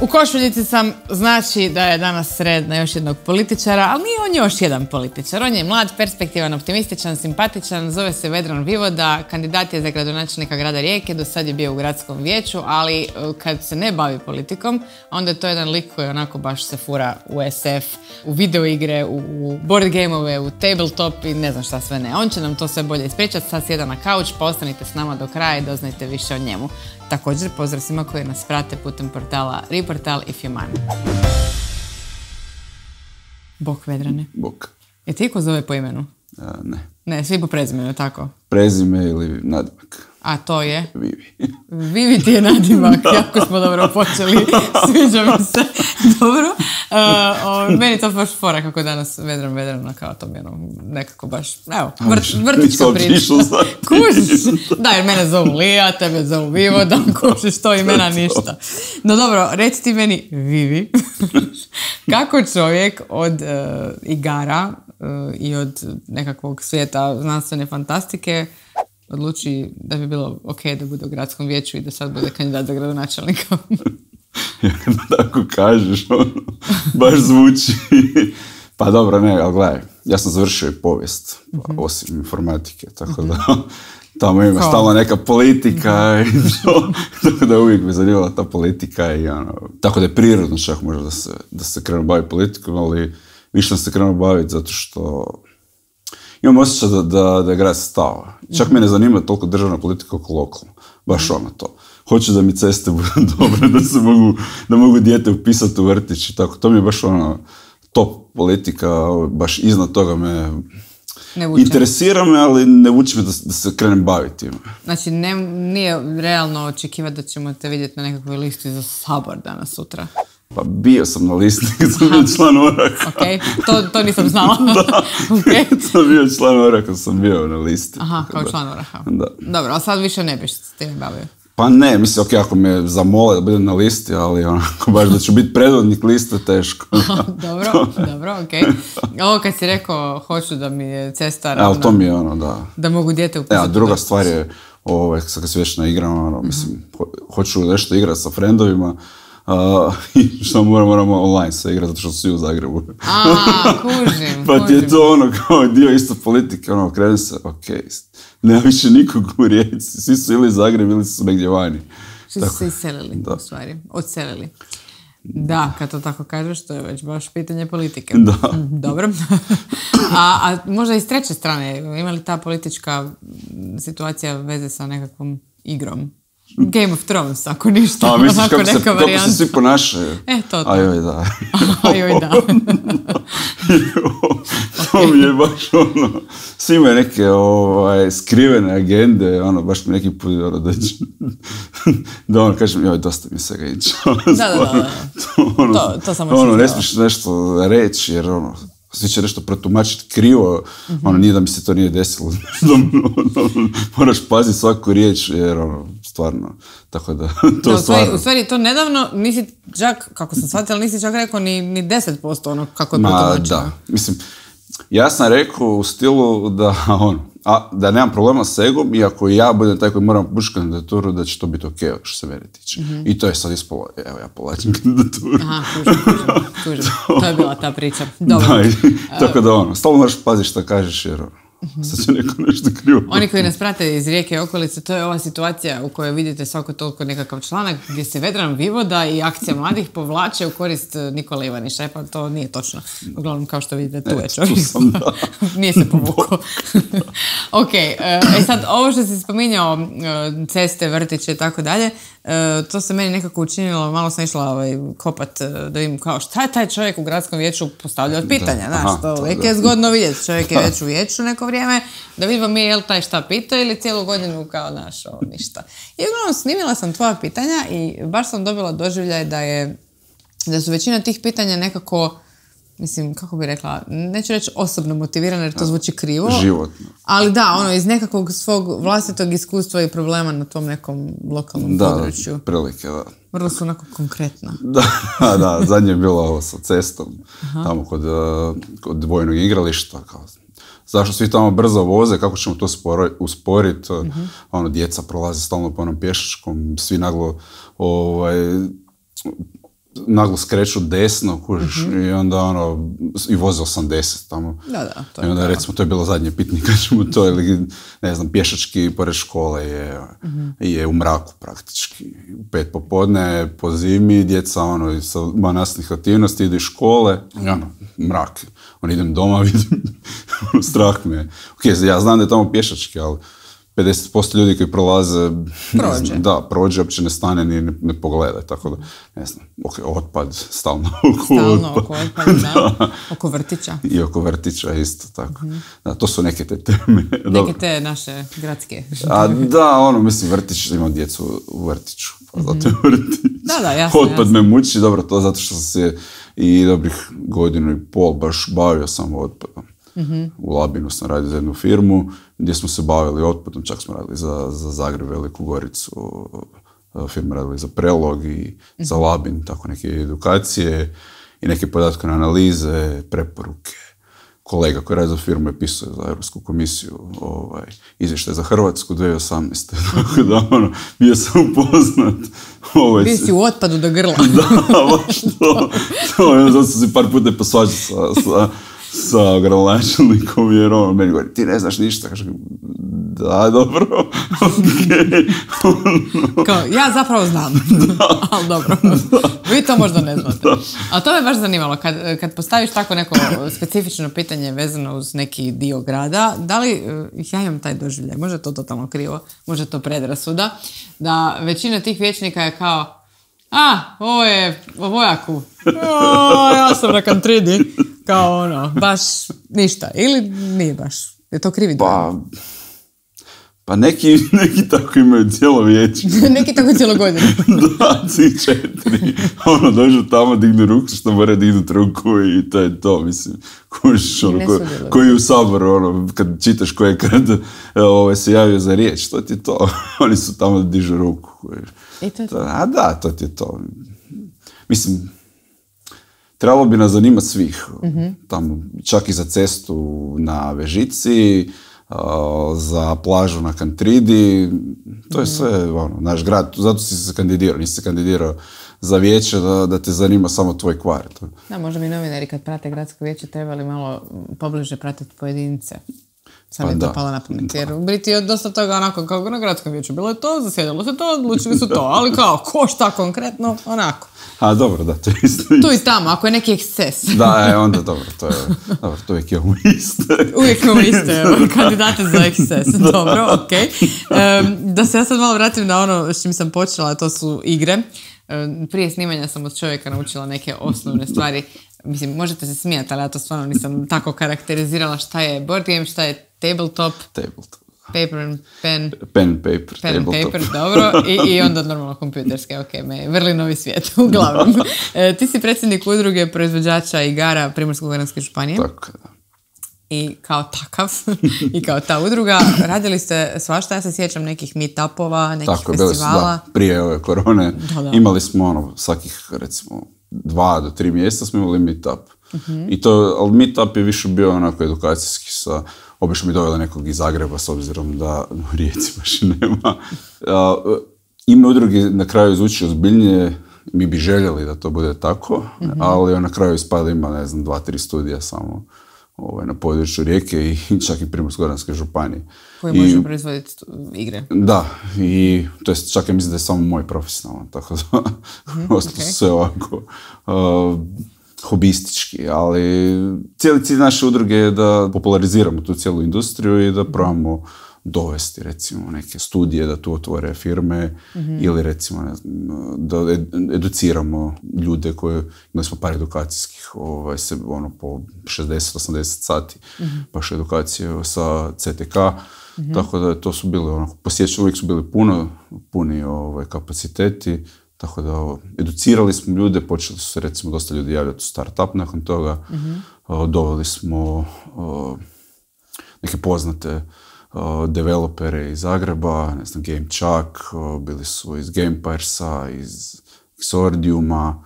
U košuljici sam, znači da je danas red na još jednog političara, ali nije on još jedan političar. On je mlad, perspektivan, optimističan, simpatičan, zove se Vedran Vivoda, kandidat je za gradonačelnika grada Rijeke, do sad je bio u gradskom vijeću, ali kad se ne bavi politikom, onda je to jedan lik koji onako baš se fura u SF, u videoigre, u board gameove, u tabletop i ne znam šta sve ne. On će nam to sve bolje ispričati, sad sjeda na kauč, pa ostanite s nama do kraja i doznajte više o njemu. Također, pozdrav svima koji nas prate putem portala Reportal i Fjumani. Bok, Vedrane. Bok. Je ti ko zove po imenu? Ne. Ne, svi po prezimenu, tako? Prezime ili nadimak. A to je? Vivi. Vivi ti je nadimak, jako smo dobro počeli, sviđa mi se. Dobro. Meni to baš fora kako danas Vedrana, kao to mi nekako baš, evo, vrtička priča. Kužiš? Da, jer mene zovu Lija, tebe zovu Vivoda, kužiš, to imena ništa. No dobro, reci ti meni, Vivi, kako čovjek od igara i od nekakvog svijeta znanstvene fantastike odluči da bi bilo ok da bude u gradskom vijeću i da sad bude kandidat za gradonačelnika? Ja kada tako kažeš, baš zvuči. Pa dobro, ne, ali gledaj, ja sam završio i povijest, osim informatike, tako da tamo ima stalno neka politika i to, tako da uvijek me zanimala ta politika i tako da je prirodno čak možda da se krenu baviti politikom, ali više sam se krenuo baviti zato što imam osjećaj da je grad stao. Čak me ne zanima toliko državna politika oko lokalno. Baš to. Hoću da mi ceste budu dobre, da mogu dijete upisati u vrtić i tako. To mi je baš top politika, baš iznad toga me interesira me, ali ne vuče me da se krenem baviti. Znači, nije realno očekivati da ćemo te vidjeti na nekakvoj listi za Sabor danas, sutra? Pa bio sam na listi kad sam bio član Oraka. Ok, to nisam znala. Da, kad sam bio član Oraka, sam bio na listi. Aha, kao član Oraka. Da. Dobro, a sad više ne biš s tim bavio? Pa ne, mislim, ok, ako me zamole da budem na listi, ali onako baš da ću biti predvodnik liste, teško. Dobro, ok. Ovo kad si rekao, hoću da mi je cesta ravna. Ali to mi je da. Da mogu dijete upisati. Ja, druga stvar je, kad se već na igrama, mislim, hoću nešto igrati sa frendovima, i što moramo online se igrati, zato što su svi u Zagrebu. Kužim. Pa ti je to kao dio isto politike, krenu se, ok, nema više nikog u Rijeci, svi su ili Zagreb ili su negdje vani. Svi su se iselili, u stvari, odselili. Da, kad to tako kažeš, to je već baš pitanje politike. Da. Dobro. A možda i s treće strane, ima li ta politička situacija veze sa nekakvom igrom? Game of Thrones, ako ništa. Misliš kako se svi ponašaju? To. Ajoj, da. Ajoj, da. To mi je baš svi imaju neke skrivene agende, baš mi neki put da kažem, joj, dosta mi se ga ići. Da. To samo ne smiješ nešto reći, jer svi će nešto protumačiti krivo, nije da mi se to nije desilo. Moraš paziti svaku riječ, jer stvarno, tako da, to stvarno. U stvari, to nedavno nisi čak, kako sam shvatila, nisi čak rekao ni 10% kako je protumačeno. Da, mislim, ja sam rekao u stilu da nemam problema s egom, i ako ja budem taj koji moram pušiti kandidaturu, da će to biti ok, što se mene tiče. I to je sad ispolo, evo ja povlačim kandidaturu. Aha, kužim. To je bila ta priča. Dobro. Tako da stalno moraš paziti što kažeš, jer sad će neko nešto krivo. Oni koji nas prate iz Rijeke i okolice, to je ova situacija u kojoj vidite svako toliko nekakav članak gdje se Vedran Vivoda i akcija mladih povlače u korist Nikole Ivaniša. Pa to nije točno. Uglavnom, kao što vidite, tu je čovjek. Nije se povukao. Ok, sad ovo što si spominjao, ceste, vrtiće i tako dalje, to se meni nekako učinilo, malo sam išla kopat da vidim kao šta je taj čovjek u gradskom vijeću postavljao pitanja, znaš, to uvijek je zgodno vidjeti, čovjek je već u vijeću neko vrijeme, da vidimo mi je li taj šta pita ili cijelu godinu kao naš, ništa. I uglavnom snimila sam tvoja pitanja i baš sam dobila doživljaj da su većina tih pitanja nekako, mislim, kako bi rekla, neću reći osobno motivirane jer to zvuči krivo. Životno. Ali da, iz nekakvog svog vlastitog iskustva i problema na tom nekom lokalnom području. Da, prilike, da. Vrlo su onako konkretna. Da, zadnje je bilo ovo sa cestom, tamo kod vojnog igrališta, kao zašto svi tamo brzo voze, kako ćemo to usporiti, djeca prolaze stalno po onom pješačkom, svi naglo naglo skreću desno, kužiš, i onda ono, i voze 80 tamo. Da, to I onda recimo, to je bilo zadnje pitanje kad ćemo to, ili ne znam, pješački pored škole je u mraku praktički. U 5 popodne, po zimi, djeca ono, sa nastavnih aktivnosti idu iz škole, i ono, mrak. On idem doma, vidim, strah me je. Ok, ja znam da je tamo pješački, ali 50% ljudi koji prolaze, prođe, uopće ne stane ni ne pogleda, tako da, ne znam, otpad, stalno oko otpada, da. Oko vrtića. I oko vrtića isto, tako. Da, to su neke te teme. Neke te naše gradske. Mislim, vrtić, imam djecu u vrtiću, pa zato je vrtić. Da, jasno. Otpad me muči, dobro, to zato što sam se i dobrih 1.5 godina baš bavio samo otpadom. U Labinu sam radio za jednu firmu gdje smo se bavili otpadom, čak smo radili za Zagreb, Veliku Goricu, firme radili za Prelog i za Labin, tako neke edukacije i neke podatkovne analize, preporuke. Kolega koji radi za firmu je pisao za Europsku komisiju izvještaj za Hrvatsku 2018. Tako da, bio sam upoznat. Bio si u otpadu do grla. Da, baš to. Zato sam si par puta posvađao sa gradonačelnikom, jer on meni govori, ti ne znaš ništa. Kaže, da, dobro, okej. Kao, ja zapravo znam, ali dobro, vi to možda ne znate. Ali to me baš zanimalo, kad postaviš tako neko specifično pitanje vezano uz neki dio grada, da li, ja imam taj doživljaj, može je to totalno krivo, može to predrasuda, da većina tih vijećnika je kao, ovo je o Vojaku, ja sam na Kantridi, kao ono, baš ništa, ili nije baš, je to krivi dojam? Pa neki tako imaju cijelo vijeće. Neki tako cijelo godinu. Da, 4. Dođu tamo, dignu ruku, što mora dignuti ruku i to je to, mislim. Koji u Saboru, kad čitaš ko je kad se javio za riječ, to ti je to. Oni su tamo da dižu ruku. I to je to? Da, to ti je to. Mislim, trebalo bi nas zanimati svih. Tamo, čak i za cestu na Vežici, za plažu na Kantridi, to je sve naš grad, zato si se kandidirao, nisi se kandidirao za vijeće da te zanima samo tvoj kvart. Da, možda bi novinari kad prate gradsko vijeće trebali malo pobliže pratiti pojedince. Sam je to palo na pamet, jer u Briti je dosta toga onako kao na gradskom vijeću bilo je to, zasjedalo se to, odlučili su to, ali kao ko šta konkretno, onako. Dobro, da, to je isto. Tu i tamo, ako je neki eksces. Da, onda dobro, to uvijek imamo iste. Uvijek imamo iste, kandidate za eksces, dobro, okej. Da se ja sad malo vratim na ono s čim sam počela, to su igre. Prije snimanja sam od čovjeka naučila neke osnovne stvari. Mislim, možete se smijati, ali ja to stvarno nisam tako karakterizirala šta je board game, šta je tabletop. Paper and pen. Pen and paper. Pen and paper, dobro. I onda normalno kompjuterske, vrli novi svijet, uglavnom. Ti si predsjednik udruge proizvođača igara Primorsko-goranske županije. Tako, da. I kao takav, i kao ta udruga, radili ste svašta, ja se sjećam nekih meetupova, nekih festivala. Prije ove korone imali smo svakih, recimo, 2 do 3 mjeseca smo imali meetup. Ali meetup je više bio onako edukacijski obično mi doveli nekog iz Zagreba s obzirom da u Rijeci baš i nema. Ime udruge na kraju zvuči ozbiljnije, mi bi željeli da to bude tako, ali na kraju ispada ima, 2-3 studija samo na području Rijeke i čak i Primorsko-goranske županije. Koji može proizvoditi igre. Da, i to je čak ja mislim da je samo moj profesionalan, tako da ostalo sve ovako hobistički, ali cijeli cilj naše udruge je da populariziramo tu cijelu industriju i da probamo dovesti recimo neke studije da tu otvore firme ili recimo da educiramo ljude koje imali smo par edukacijskih po 60-80 sati baš edukacije sa CTK, tako da to su bili posjećali, uvijek su bili puni kapaciteti. Tako da educirali smo ljude, počeli su se recimo dosta ljudi javljati u startup nakon toga. Doveli smo neke poznate developere iz Zagreba, GameChuck, bili su iz Gamepiresa, iz Xordiuma,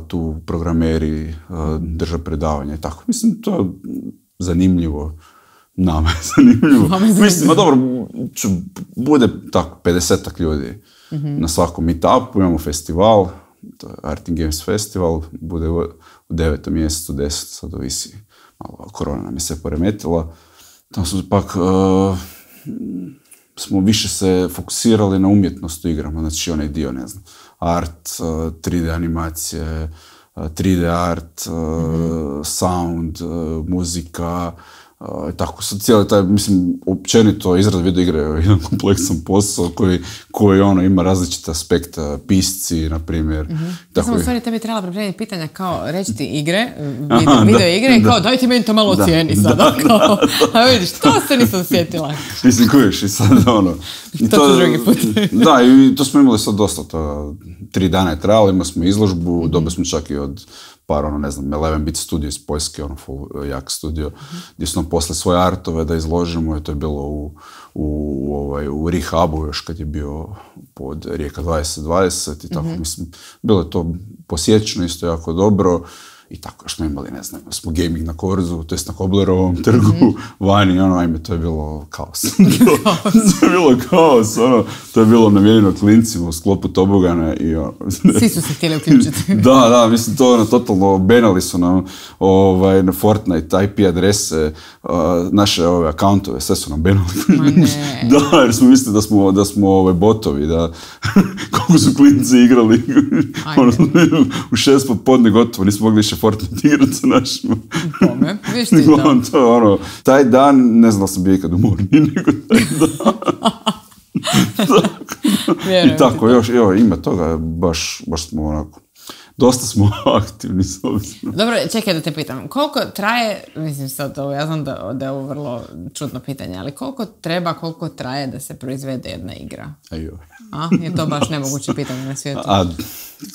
tu programeri drže predavanja i tako. Mislim, to je zanimljivo. Nama je zanimljivo. Mislim, dobro, bude tako 50-ak ljudi na svakom meetupu, imamo festival, to je Art and Games Festival, bude u 9. mjesecu, 10. sad ovisi, malo korona nam je sve poremetila. Tamo smo pak smo više se fokusirali na umjetnost u igrama, znači onaj dio, ne znam, art, 3D animacije, 3D art, sound, muzika, tako sad cijeli taj, mislim, općenito izrada video igre je jedan kompleksan posao koji ono, ima različite aspekte, pisci, na primjer. Ja sam u stvari tebi trebala pripremiti pitanja kao reći ti igre, video igre, kao daj ti meni to malo ocijeni sada, kao, a vidiš, to se nisam sjetila. Mislim, kujiš i sad ono... To ću drugi put. Da, i to smo imali sad dosta, 3 dana je trajalo, imali smo izložbu, dobili smo čak i od par, ono, ne znam, 11-bit studio iz Poljske, ono, full jak studio, gdje su nam posle svoje artove da izložimo, i to je bilo u Rehabu još kad je bio pod Rijeka 2020 i tako, mislim, bilo je to posjećeno isto jako dobro. I tako još smo imali, ne znam, smo gaming na Korzu, to jest na Koblerovom trgu, vani, ono, ajme, to je bilo kaos. To je bilo kaos, ono, to je bilo namijenjeno klincima u sklopu tobogana i ono... Svi su se htjeli uključiti. Da, mislim, to ono, totalno benali su nam na Fortnite IP adrese, naše ove akauntove, sve su nam benali. Da, jer smo mislili da smo botovi, da koliko su klinci igrali, ono, u 6 popodne gotovo, nismo mogli više Fortnite igrati sa našima. Kome? Viš ti to? Ono, taj dan, ne znam da sam bio ikad umorniji nego taj dan. I tako, još, ima toga, baš smo onako, dosta smo aktivni s obzirom. Dobro, čekaj da te pitam, koliko traje, mislim sad ovo, ja znam da je ovo vrlo čudno pitanje, ali koliko traje da se proizvede jedna igra? Ajoj. Je to baš nemoguće pitanje na svijetu?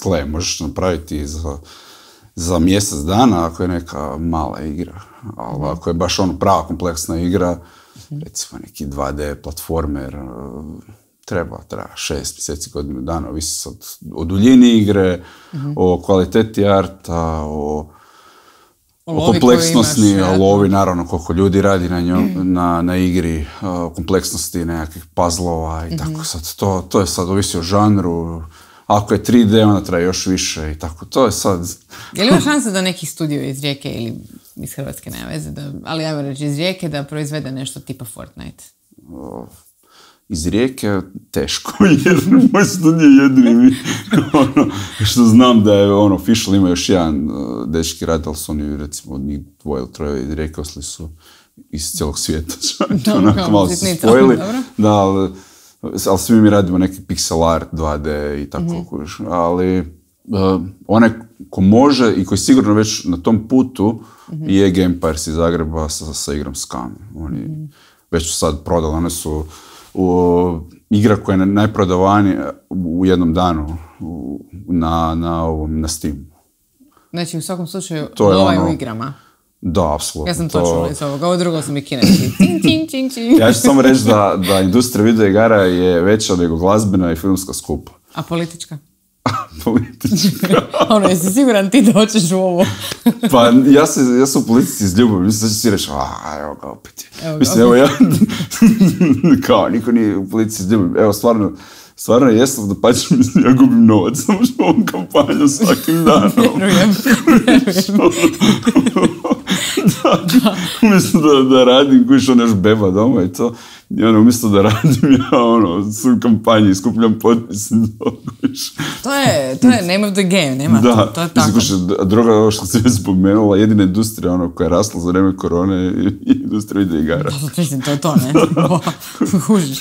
Gle, možeš napraviti za mjesec dana ako je neka mala igra, ali ako je baš ono prava kompleksna igra, recimo neki 2D platformer, treba 6 mjeseci, godinu dana, ovisi sad o duljini igre, o kvaliteti arta, o kompleksnosti, o lovi, naravno koliko ljudi radi na igri, o kompleksnosti nekakvih puzzlova i tako sad. To je sad ovisi o žanru. Ako je 3D, onda traje još više i tako. To je sad... Je li ima šansa da neki studio iz Rijeke ili iz Hrvatske, nema veze, ali ajmo reći iz Rijeke, da proizvede nešto tipa Fortnite? Iz Rijeke teško, jer moj studio je jedini što znam da je official, ima još jedan dečki rad, ali su oni recimo njih 2 ili 3 iz Rijeke, ostali su iz cijelog svijeta. Onako malo su spojili. Da, ali svi mi radimo neki pixel art, 2D i tako, ali onaj ko može i koji sigurno već na tom putu je Game Pirates iz Zagreba sa igrom Scam. Oni već su sad prodali, one su igra koja je najprodavanija u jednom danu na Steamu. Znači, u svakom slučaju, lova u igrama. Da, apsolutno. Ja sam to čula iz ovoga, ovo drugo sam i kineski. Ja ću samo reći da industrija video igara je veća nego glazbena i filmska skupa. A politička? Politička. Jesi siguran ti da hoćeš u ovo? Pa ja sam u politici izljubim, mislim da će svi reći, evo ga opet. Mislim, evo ja, kao, niko nije u politici izljubim. Evo, stvarno jesam da pačem, mislim, ja gubim novac, samo što ovom kampanju svakim danom. Vjerujem. Umjesto da radim, kojiš još beba doma i to, i umjesto da radim, ja sam u kampanji i skupljam potpise. To je name of the game, nema to je tako. A druga, ovo što sam spomenula, jedina industrija koja je rasla za vreme korone je industrija video igara. Mislim, to je to, ne? Hužiš.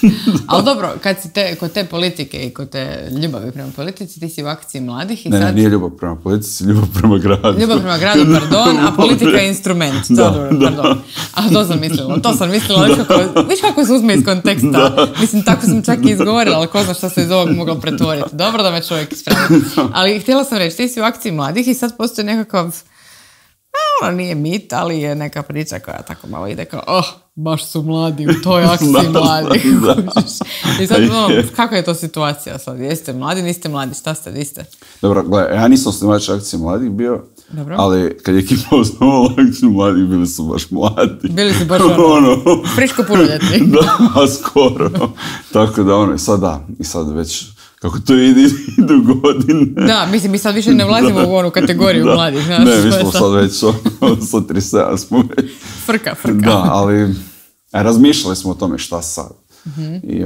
Ali dobro, kad si kod te politike i kod te ljubavi prema politici, ti si u akciji mladih i sad... Ne, nije ljubav prema politici, ljubav prema gradu. Ljubav prema gradu, pardon, a politika je instrument. Pardon. A to sam mislila, viš kako se uzme iz konteksta. Mislim, tako sam čak i izgovorila, ali ko zna što se iz ovog moglo pretvoriti. Dobro da me čovjek ispravi. Ali htjela sam reći, ti si u akciji mladih i sad postoji nekakav, nije mit, ali je neka priča koja tako malo ide kao, baš su mladi u toj akciji mladih. I sad, kako je to situacija sad? Jeste mladi, niste mladi, šta ste, di ste? Dobro, gledaj, ja nisam osnivač akcije mladih bio, ali kad je ekipa osnovala akciju mladih, bili su baš mladi. Bili su baš friško punoljetni. Da, skoro. Tako da sad da, i sad već kako to idu godine. Da, mislim, mi sad više ne vlazimo u onu kategoriju mladih. Znaš, ne, mi smo sad već 137 smo već. Frka. Da, ali razmišljali smo o tome šta sad. I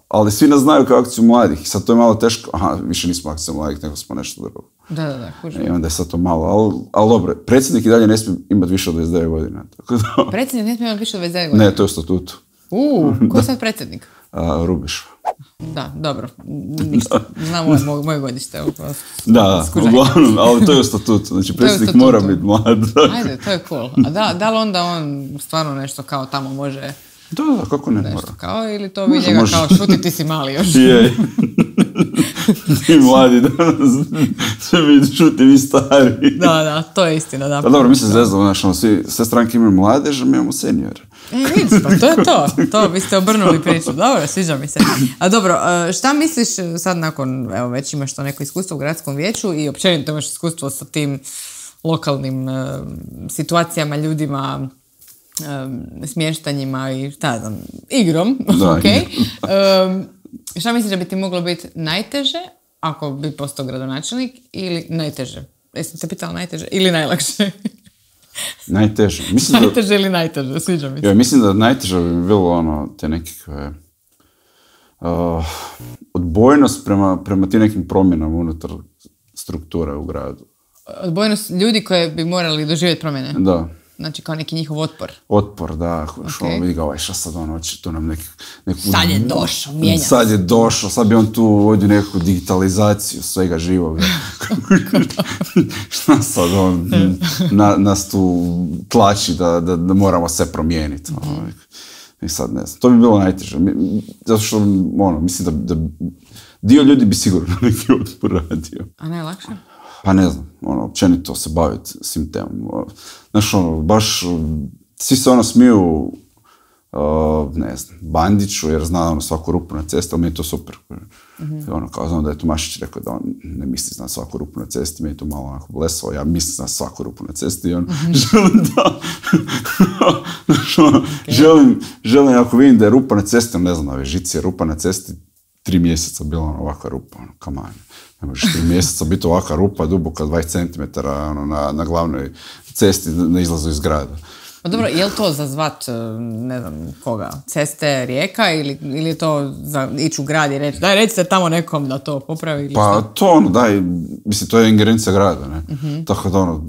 ali svi nas znaju kao akciju mladih. Sad to je malo teško. Aha, više nismo akcija mladih, nego smo nešto drugo. Da, kužim. I onda je sad to malo, ali dobro, predsjednik i dalje ne smije imati više od 29 godina. Tako da... Predsjednik ne smije imati više od 29 godina? Ne, to je u statutu. Ko je sad predsjednik? Rubiš. Da, dobro. Ništa. Znam moje godište. Da, uglavnom, ali to je u statutu. Znači, predsjednik mora biti mlad. Ajde, to je cool. A da li onda on stvarno nešto kao tamo može... Da, kako ne nešto mora. Kao, ili to vi njega kao šuti, ti si mali još. Je. Ti mladi danas, sve mi šuti, vi stari. Da, to je istina, da. Pa dobro, mi se zvezdamo, znaš, sve stranke imaju mladež, a mi imamo seniore. Vidiš, pa to je to. To vi ste obrnuli priču. Dobro, sviđa mi se. A dobro, šta misliš sad nakon, evo već imaš to neko iskustvo u gradskom vijeću i općenito imaš iskustvo sa tim lokalnim situacijama, ljudima, smještanjima i šta znam, igrom, ok. Šta misliš da bi ti moglo biti najteže ako bi postao gradonačelnik ili najteže? Jesam te pitala najteže ili najlakše? Najteže. Najteže ili najteže, sviđa mi se. Ja, mislim da najteže bi bilo te nekakve odbojnost prema tim nekim promjenama unutar strukture u gradu. Odbojnost ljudi koje bi morali doživjeti promjene? Da. Znači kao neki njihov otpor. Otpor, da. Okay. Vidi ga, šta sad on hoće tu nam neku... Sad je došao, mijenja se. Sad je došao, sad bi on tu uvodio neku digitalizaciju svega živoga. Šta sad on nas tu tlači da moramo sve promijeniti. I sad ne znam. To bi bilo najteže. Zato što, mislim da dio ljudi bi sigurno neki otpor radio. A najlakše? Pa ne znam, općenito se baviti svim temom. Znaš, baš svi se smiju, ne znam, Bandiću, jer zna svaku rupu na cesti, ali mi je to super. Kao znam da je Tomašić rekao da on ne misli zna svaku rupu na cesti, mi je to malo onako blesao, ja mislim zna svaku rupu na cesti i želim da... želim, ako vidim da je rupa na cesti, ne znam, na Vežici je rupa na cesti, 3 mjeseca bila ovakva rupa, kamanje. Ne možeš 3 mjeseca biti ovakva rupa, duboka 20 cm na glavnoj cesti na izlazu iz grada. Pa dobro, je li to za zvat, ne znam koga, ceste, rijeka ili je to za ići u grad i reći, daj recite tamo nekom da to popravi ili pa što? To daj, mislim, to je ingerencija grada, ne? Tako da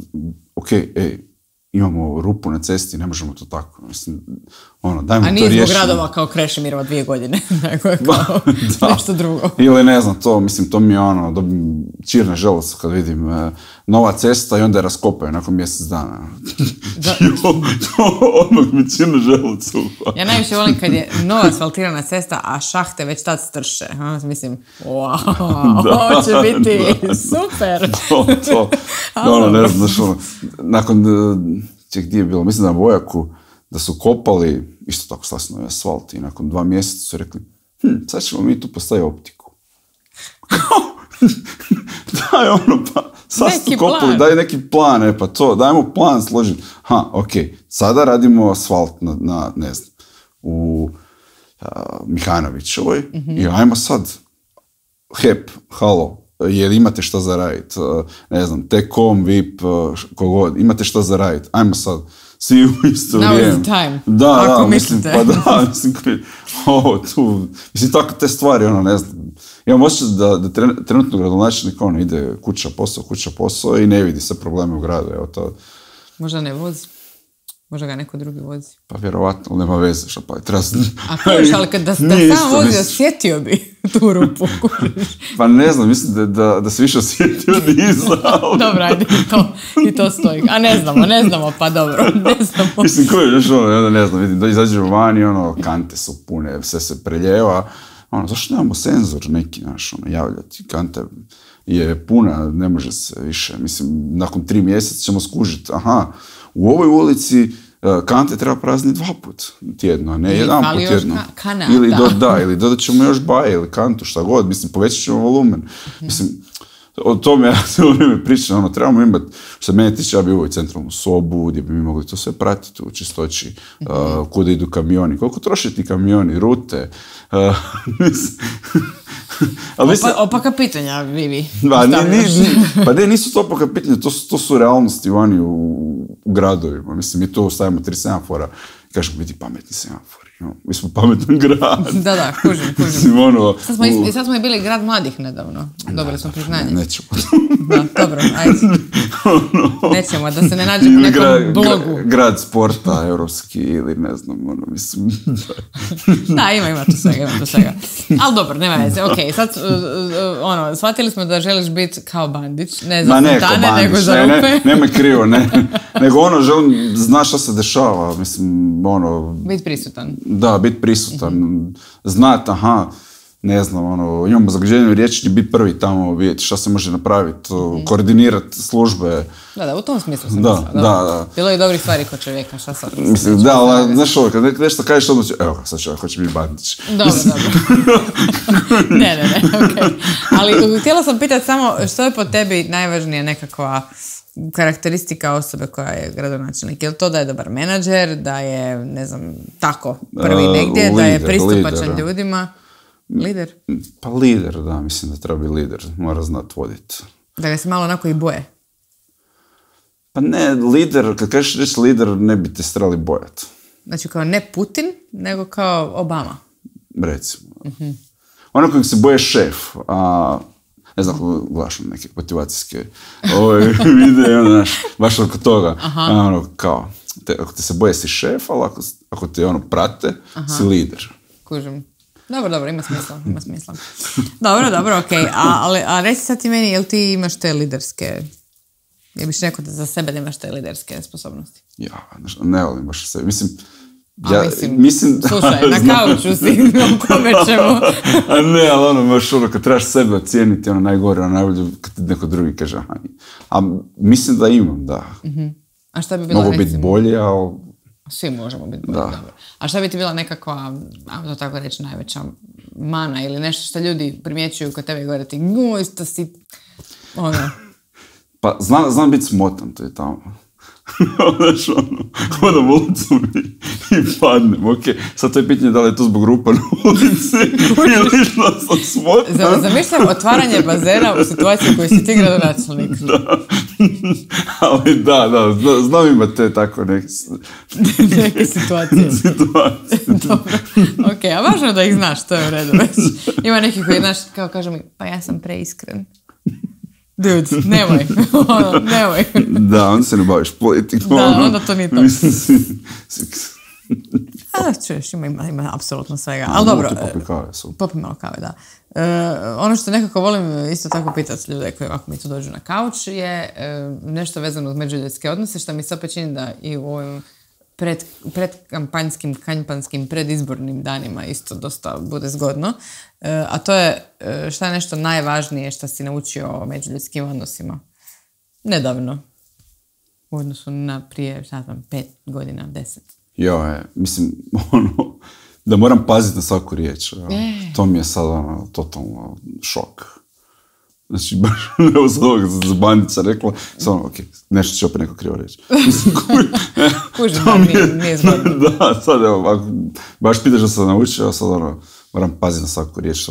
imamo rupu na cesti, ne možemo to tako. Mislim, dajmo to riješiti. A nije zbog gradova kao Krešimirova 2 godine, nego je kao nešto drugo. Ili ne znam, to mi je dobim čirne želuca kad vidim nova cesta i onda je raskopaju nakon mjesec dana. Odmah mi čirne želuca. Ja najviše volim kad je nova asfaltirana cesta, a šahte već tad strše. Mislim, ovo će biti super. Ne znam, nakon gdje je bilo, mislim da na Vojaku, da su kopali, isto tako slasno asfalt i nakon 2 mjeseca su rekli, sad ćemo mi tu postaviti optiku. Daj sad su kopali, daj neki plan, pa to, dajmo plan složiti. Sada radimo asfalt na ne znam, u Mihanovićevoj i ajmo sad, HEP, halo, jer imate šta za raditi, ne znam, T-Com, VIP, kogod, imate šta za raditi, ajmo sad, svi u isto vrijeme. Now is the time. Da, mislim, mislim, tako te stvari, ne znam, imam osjećaj da trenutno gradonačelnik, ide kuća, posao i ne vidi se probleme u gradu, evo to. Možda ne vozi. Možda ga neko drugi vozi. Pa vjerovatno, ali nema veze, šta pa je treba... A kojiš, ali da sam vozio, osjetio bi tu rupu. Pa ne znam, mislim da se više osjetio od iza. Dobro, ajde, i to stoji. A ne znamo, pa dobro, ne znamo. Mislim, koji je, ne znam, vidim, da izađemo vani, kante su pune, sve se preljeva. Zašto nemamo senzor neki, javljati? Kanta je puna, ne može se više. Mislim, nakon 3 mjeseca ćemo skužiti, u ovoj ulici kante treba prazniti 2 put tjedno, a ne 1 put tjedno. Ili dodat ćemo još baje ili kantu, šta god. Mislim, povećat ćemo volumen. Mislim, o tome ja se u vrijeme pričam, trebamo imati, što mene tiče, ja bi uvoj centralnu sobu, gdje bi mi mogli to sve pratiti u čistoći, kuda idu kamioni, koliko troše ti kamioni, rute. Opaka pitanja, Vivi. Pa ne, nisu to opaka pitanja, to su realnosti vani u gradovima. Mislim, mi tu stavimo 3 semafora i kažemo, biti pametni semafori. Mi smo pametan grad. Da, kužim. Mislim, Sad smo i bili grad mladih nedavno. Dobili smo priznanje. Nećemo. Da, dobro, ajde. Nećemo, da se ne nađe po nekom blogu. Grad sporta, europski ili ne znam, mislim. Da, ima to svega. Ali dobro, nema veze, okej, sad, shvatili smo da želiš biti kao Bandić, ne za fontane, nego za rupe. Nemoj krivo, nego želim, znaš šta se dešava, mislim, biti prisutan. Da, biti prisutan, znat, ne znam, imamo zagađenje riječi, biti prvi tamo, vidjeti šta se može napraviti, koordinirati službe. Da, u tom smislu sam da. Bilo je dobrih stvari kod čovjeka, šta sad? Mislim, da, ali znaš ovo, kad nešto kažeš, odmah evo, sad čovjek hoće biti Bandić. Dobro. Ne, okej. Ali htjela sam pitati samo, što je po tebi najvažnija nekakva karakteristika osobe koja je gradonačelnik? Je li to da je dobar menadžer, da je, ne znam, tako, prvi negdje, da je pristupačan ljudima? Lider? Pa lider, da, mislim da treba biti lider, mora znat voditi. Da ga se malo onako i boje? Pa ne, lider, kad kažeš reći lider, ne bi te strali bojati. Znači kao ne Putin, nego kao Obama? Recimo. Ono kojeg se boje šef, ne znam, gledaš neke motivacijske videe, baš oko toga, kao, ako te se boje si šef, ali ako te prate, si lider. Kužim. Dobro, ima smisla. Dobro, okej. A reci sad ti meni, jel ti imaš te liderske, jel biš rekao da za sebe nemaš te liderske sposobnosti? Ja, ne volim baš sebe. Mislim, slušaj, na kauču si, o kome ćemo. A ne, ali baš kad trebaš sebe ocijeniti, najgore, najbolje kad ti neko drugi kaže. A mislim da imam, da. A šta bi bilo, mogu biti bolje, ali... Svi možemo biti bolje, dobro. A šta bi ti bila nekakva, to tako reći, najveća mana ili nešto što ljudi primjećuju kod tebe i govore ti, isto si, Pa znam biti smotan, to je tamo. Hodam ulicom i padnem, okej. Sad to je pitanje da li je to zbog rupa na ulici ili što sam smotan. Zamišljam otvaranje bazena u situaciji u kojoj si ti gradonačelnik. Da, ali da, znam imati te tako neke situacije. Dobro, okej, a važno da ih znaš, to je u redu već. Ima neki koji, znaš, kao kaže mi, pa ja sam preiskren. Dude, nemoj. Da, onda se ne baviš politikom. Da, onda to nije to. Čuješ, ima apsolutno svega. Ali dobro. Popi malo kave, da. Ono što nekako volim isto tako pitati ljude koji ovako mi tu dođu na kauč je nešto vezano uz međuljudske odnose, što mi se opet čini da i u ovim kampanjskim, predizbornim danima isto dosta bude zgodno. A to je šta je nešto najvažnije što si naučio o međuljudskim odnosima. Nedavno. U odnosu na prije, 5 godina, 10. Mislim, da moram paziti na svaku riječ. To mi je sad totalno šok. Znači, baš evo sad ovoga za Bandića rekla, samo, nešto će opet neko krivo reći. Kužim, nije zgodno. Da, sad evo, baš pitaš da sam naučio, sad moram paziti na svaku riječ,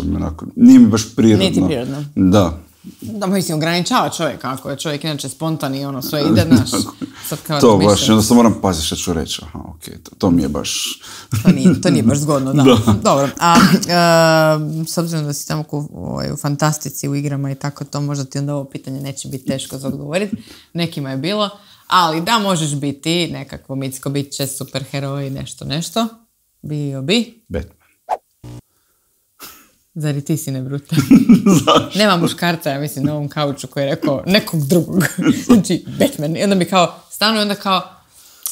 nije mi baš prirodno. Nije ti prirodno. Da. Da, mislim, ograničava čovjeka, ako je čovjek inače spontan i sve ide, znaš. To baš, onda sam moram paziti što ću reći. To mi je baš... To nije baš zgodno, da. Dobro, a s obzirom da si tamo u fantastici, u igrama i tako to, možda ti onda ovo pitanje neće biti teško za odgovoriti. Nekima je bilo, ali da možeš biti nekakvo mitsko biće, superheroj, nešto. Bio bi... Batman. Zar i ti si ne bruta? Nema muškarca, ja mislim, na ovom kauču koji je rekao nekog drugog. Znači, Batman. I onda mi kao, stanu i onda kao,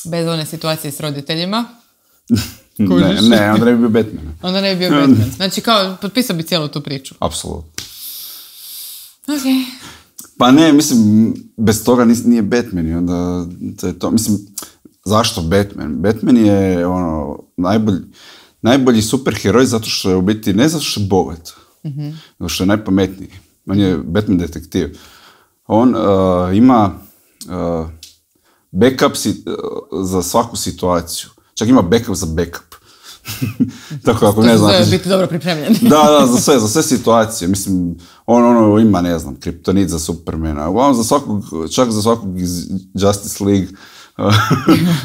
bez one situacije s roditeljima. Ne, onda ne bi bio Batman. Onda ne bi bio Batman. Znači, kao, potpisao bi cijelu tu priču. Apsolutno. Okej. Pa ne, mislim, bez toga nije Batman i onda to je to. Mislim, zašto Batman? Batman je najbolji superheroj zato što je u biti, ne zato što je bogat, zato što je najpametniji. On je Batman detektiv. On ima backup za svaku situaciju. Čak ima backup za backup. Tako ako ne znam... To biti dobro pripremljen. Da, za sve situacije. Mislim, on ima, ne znam, kriptonit za Supermana. Uglavnom, čak za svakog iz Justice League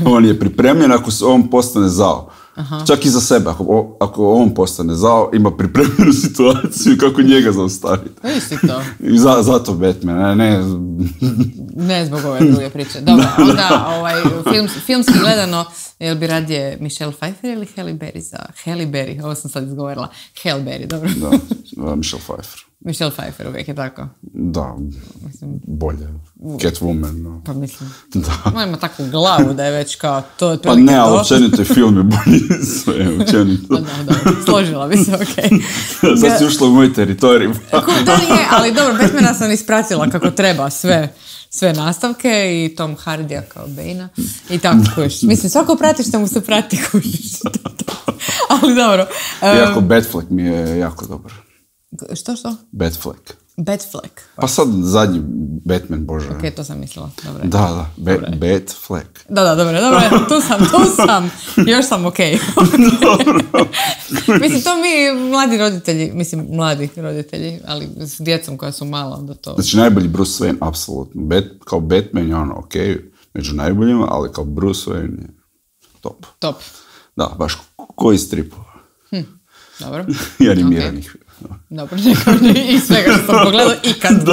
on je pripremljen ako on postane zao. Aha. Čak i za sebe. Ako on postane zao, ima pripremljenu situaciju kako njega zaustaviti. Isti to. I zato Batman, ne zbog ove druge priče. Dobro, onda filmski gledano, jel bi radije Michelle Pfeiffer ili Halle Berry za... Halle Berry, ovo sam sad izgovorila. Halle Berry, dobro. Da, Michelle Pfeiffer. Michelle Pfeiffer uvijek je tako. Da, bolje. Catwoman, no. Pa mislim, ona ima takvu glavu da je već kao to... Pa ne, ali općenito je film je bolji sve, općenito. Da, složila bi se, okej. Sad si ušla u moj teritorij. Da je, ali dobro, Batmana sam ispratila kako treba sve nastavke i Tom Hardya kao Bane-a i tako kužiš. Mislim, svako prati što mu se prati kužiš. Ali dobro. Iako Batfleck mi je jako dobar. Što? Batfleck. Pa sad zadnji Batman, bože. Ok, to sam mislila. Dobro. Da, Batfleck. Da, dobro, tu sam. Još sam ok. Mislim, to mi mladi roditelji, ali s djecom koja su mala, onda to... Znači, najbolji Bruce Wayne, apsolutno. Kao Batman je ono, ok, među najboljima, ali kao Bruce Wayne je top. Da, baš koji stripova. Dobro. I animiranih. Dobro, i svega što sam pogledala ikad.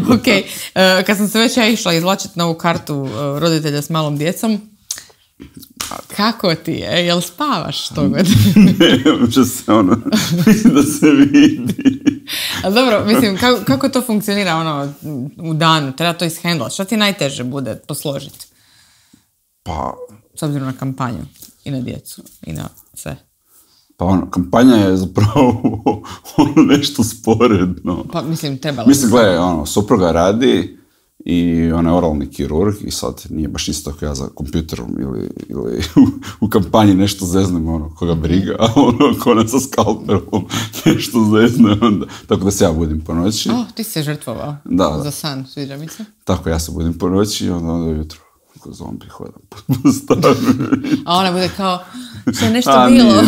Ok, kad sam se već ja izvlačiti na ovu kartu roditelja s malom djecom, kako ti je? Jel spavaš to god? Ne, uopće se mislim da se vidi. A dobro, mislim, kako to funkcionira u danu? Treba to ishendlati. Što ti najteže bude posložiti? Pa... S obzirom na kampanju i na djecu i na sve. Pa kampanja je zapravo nešto sporedno. Pa mislim, trebalo. Mislim, gledaj, supruga radi i ona je oralni kirurg i sad nije baš isto ako ja za kompjuterom ili u kampanji nešto zeznem, koga briga, a ko ona sa skalperom nešto zezne, onda. Tako da se ja budim po noći. Ti si se žrtvovao za san, sviđa mi se. Tako ja se budim po noći i onda jutro. Ko zombi hodam po stanu. A ona bude kao, što je nešto bilo.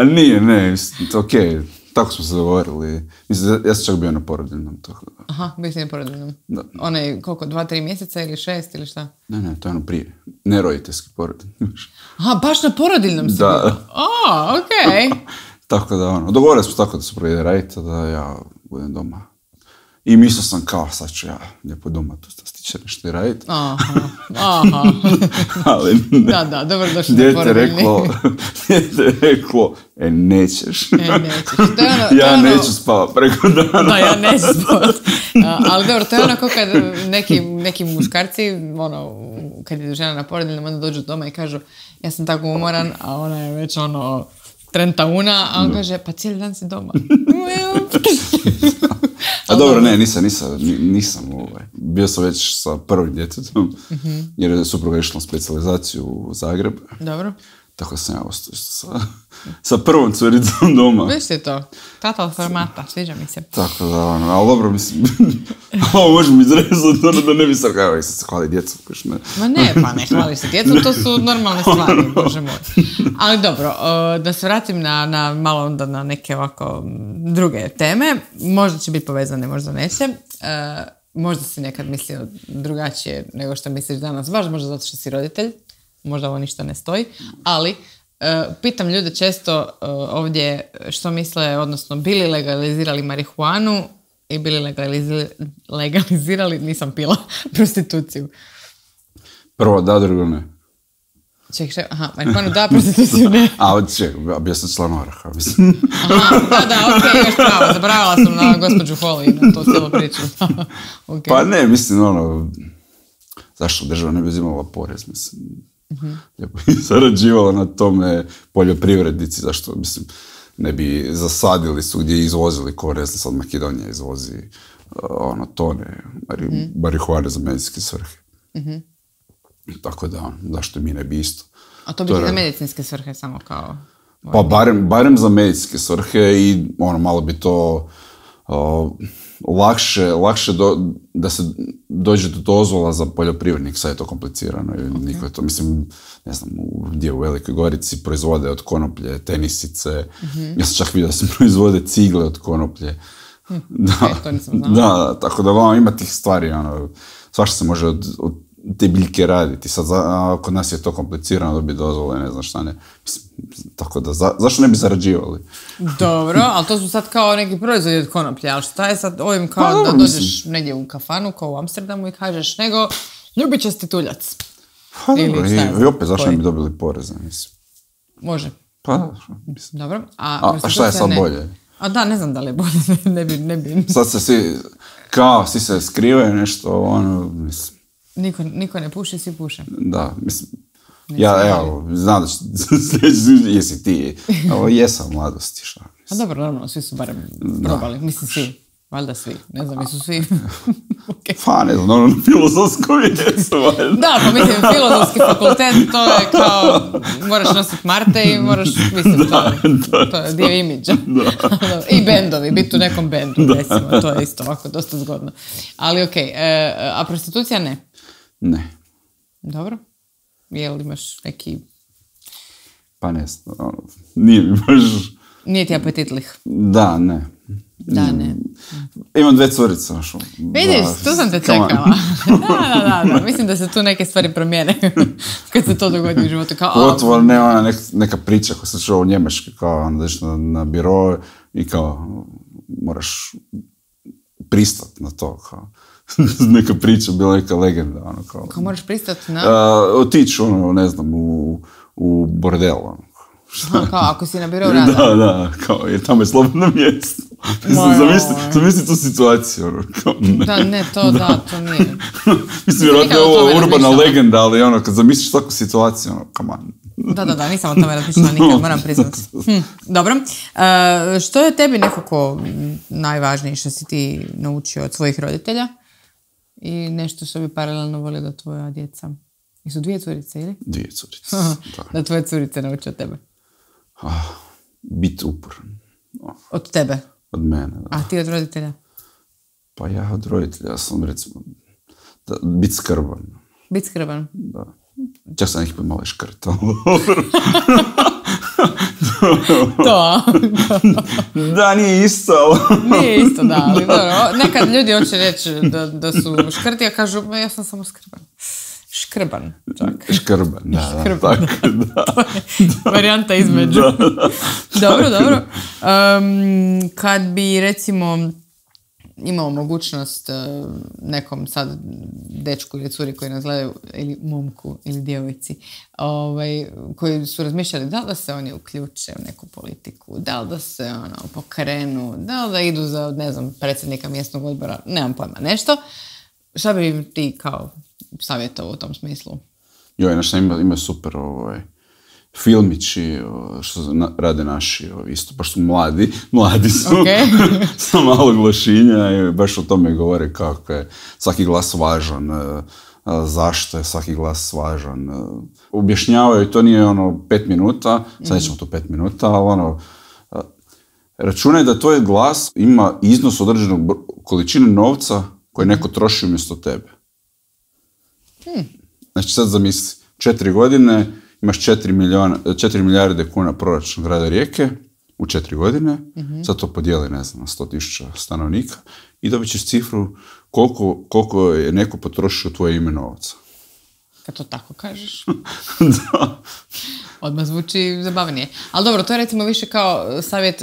Nije, okej. Tako smo se dogovorili. Mislim, ja sam čak bio na porodiljnom. Tako da. Aha, bio si na porodiljnom. Da. Ona je koliko, 2-3 mjeseca ili 6 ili šta? Ne, to je prije. Neroditeljski porodiljni. Aha, baš na porodiljnom si bio? Da. Okej. Tako da, dogovorili smo tako da su ide raditi, da ja budem doma. I mislio sam kao, sad ću ja lijepo doma tu stiče nešto i raditi. Aha. Ali ne. Da, dobro došli na porodiljni. Dijete je reklo, nećeš. Ja neću spavat preko dana. Da, ja neću spavat. Ali dobro, to je kao kad neki muškarci, kad je žena na porodiljnom, onda dođu doma i kažu, ja sam tako umoran, a ona je već trentauna, a on kaže, pa cijeli dan si doma. A dobro, ne, nisam bio sam već sa prvim djetetom, jer je supruga išla na specijalizaciju u Zagreb. Dobro. Tako sam ja ostao sa prvom curicom doma. Viš ti to? Total formata, sviđa mi se. Tako da, ali dobro, mislim, ovo možemo izrezati, da ne bi sad kao, se hvali djecu. Ma ne, pa ne hvali se djecu, to su normalne stvari, bože moj. Ali dobro, da se vratim malo onda na neke ovako druge teme, možda će biti povezane, možda neće. Možda si nekad mislio drugačije nego što misliš danas, baš možda zato što si roditelj. Možda ovo ništa ne stoji, ali pitam ljude često ovdje što misle, odnosno bili legalizirali marihuanu i bili legalizirali, nisam pila, prostituciju. Prvo da, drugo ne. Ček, marihuanu da, prostituciju ne. Bio sam član Oraha, mislim. Okej, još pravo, zaboravila sam na gospođu Holly, na to cijelu priču. Okay. Pa ne, mislim, zašto država ne bi uzimala porez, mislim. Lijepo i zarađivala na tome poljoprivrednici, zašto, mislim, ne bi zasadili su gdje izvozili korez, sad Makedonija izvozi tone marihuane za medicinske svrhe. Tako da, zašto mi ne bi isto. A to bi za medicinske svrhe samo kao... Pa barem za medicinske svrhe i malo bi to lakše dođe do dozvola za poljoprivrednik, sad je to komplicirano. Niko je to, mislim, ne znam, gdje u Velikoj Gorici proizvode od konoplje tenisice. Ja sam čak vidio da se proizvode cigle od konoplje. To nisam znala. Da, tako da ima tih stvari, svašta se može od te biljke raditi. Sad, kod nas je to komplicirano dobiti dozvole, ne znam šta ne. Mislim, tako da, zašto ne bi zarađivali? Dobro, ali to su sad kao neki proizvodi od konoplje, ali šta je sad ovim kao da dođeš negdje u kafanu, kao u Amsterdamu i kažeš, nego ljubičasti tuljac. Pa dobro, i opet, zašto ne bi dobili poreze, mislim? Može. Pa, mislim. Dobro. A šta je sad bolje? A da, ne znam da li je bolje, ne bi. Sad se svi se skrivaju nešto, mislim. Niko ne puši, svi puše. Da, mislim, znam da jesi ti, jesam mladosti, šta. A dobro, normalno, svi su barem probali, mislim svi, valjda svi, ne znam, jesu svi. Okay. Pa ne znam, filozofsko jesu, valjda. Da, pa mislim, filozofski fakultet, to je kao, moraš nositi Marte i moraš, mislim, to je dio imidža. I bendovi, biti u nekom bendu, recimo, to je isto ovako dosta zgodno. Ali okej, a prostitucija ne? Ne. Dobro. Jel imaš neki... Pa ne znam, nije mi baš... Nije ti apetitlih? Da, ne. Da, ne. Imam 2 curice. Vidiš, tu sam te čekala. Da. Mislim da se tu neke stvari promijene kad se to dogodi u životu. Pogotovo ne ona neka priča koja se čuo u Njemačkoj, kao onda ideš na biro i kao moraš pristati na to, kao. Neka priča, bila neka legenda. Kao moraš pristati na... Otići, ne znam, u bordel, kao ako si na birou rada. Da, kao, jer tamo je slobodno mjesto. Zamisli tu situaciju. Da, ne, to nije. Mislim, vjerojatno je ovo urbana legenda, ali kad zamisliš takvu situaciju, come on. Da, nisam o tome razmišljala nikad, moram priznati. Dobro. Što je tebi nekako najvažnije što si ti naučio od svojih roditelja? I nešto što bi paralelno volio da tvoja djeca... I su 2 curice, ili? 2 curice, da tvoje curice nauče od tebe. Biti uporan. Od tebe? Od mene, da. A ti od roditelja? Pa ja od roditelja sam, recimo, biti skrban. Biti skrban? Da. Čak sam neki put malo škrt. To? Da, nije isto. Nije isto, da, ali dobro. Nekad ljudi hoće reći da su škrti, a kažu, ja sam samo skrban. Škrban, čak. Škrban, da. Škrban, da. To je varijanta između. Dobro. Kad bi, recimo, imao mogućnost nekom sad dečku ili curi koji nas gledaju, ili momku ili djevojci, koji su razmišljali da li da se oni uključe u neku politiku, da li da se pokrenu, da li da idu za, ne znam, predsjednika mjesnog odbora, nemam pojma, nešto. Šta bi im ti kao savjetovao u tom smislu? Ima super filmići što rade naši, isto, baš su mladi su, sa malo glašinja i baš o tome govore kako je svaki glas važan, zašto je svaki glas važan. Objašnjavaju, to nije 5 minuta, sad nećemo to 5 minuta, ali računaj da tvoj glas ima iznos određenog količine novca koje neko troši umjesto tebe. Znači sad zamisli, 4 godine imaš 4 milijarde kuna proračun grada Rijeke u 4 godine, sad to podijeli, ne znam, na 100.000 stanovnika i dobit ćeš cifru koliko je neko potrošio tvoje ime novca. Kad to tako kažeš. Da. Odmah zvuči zabavnije. Ali dobro, to je recimo više kao savjet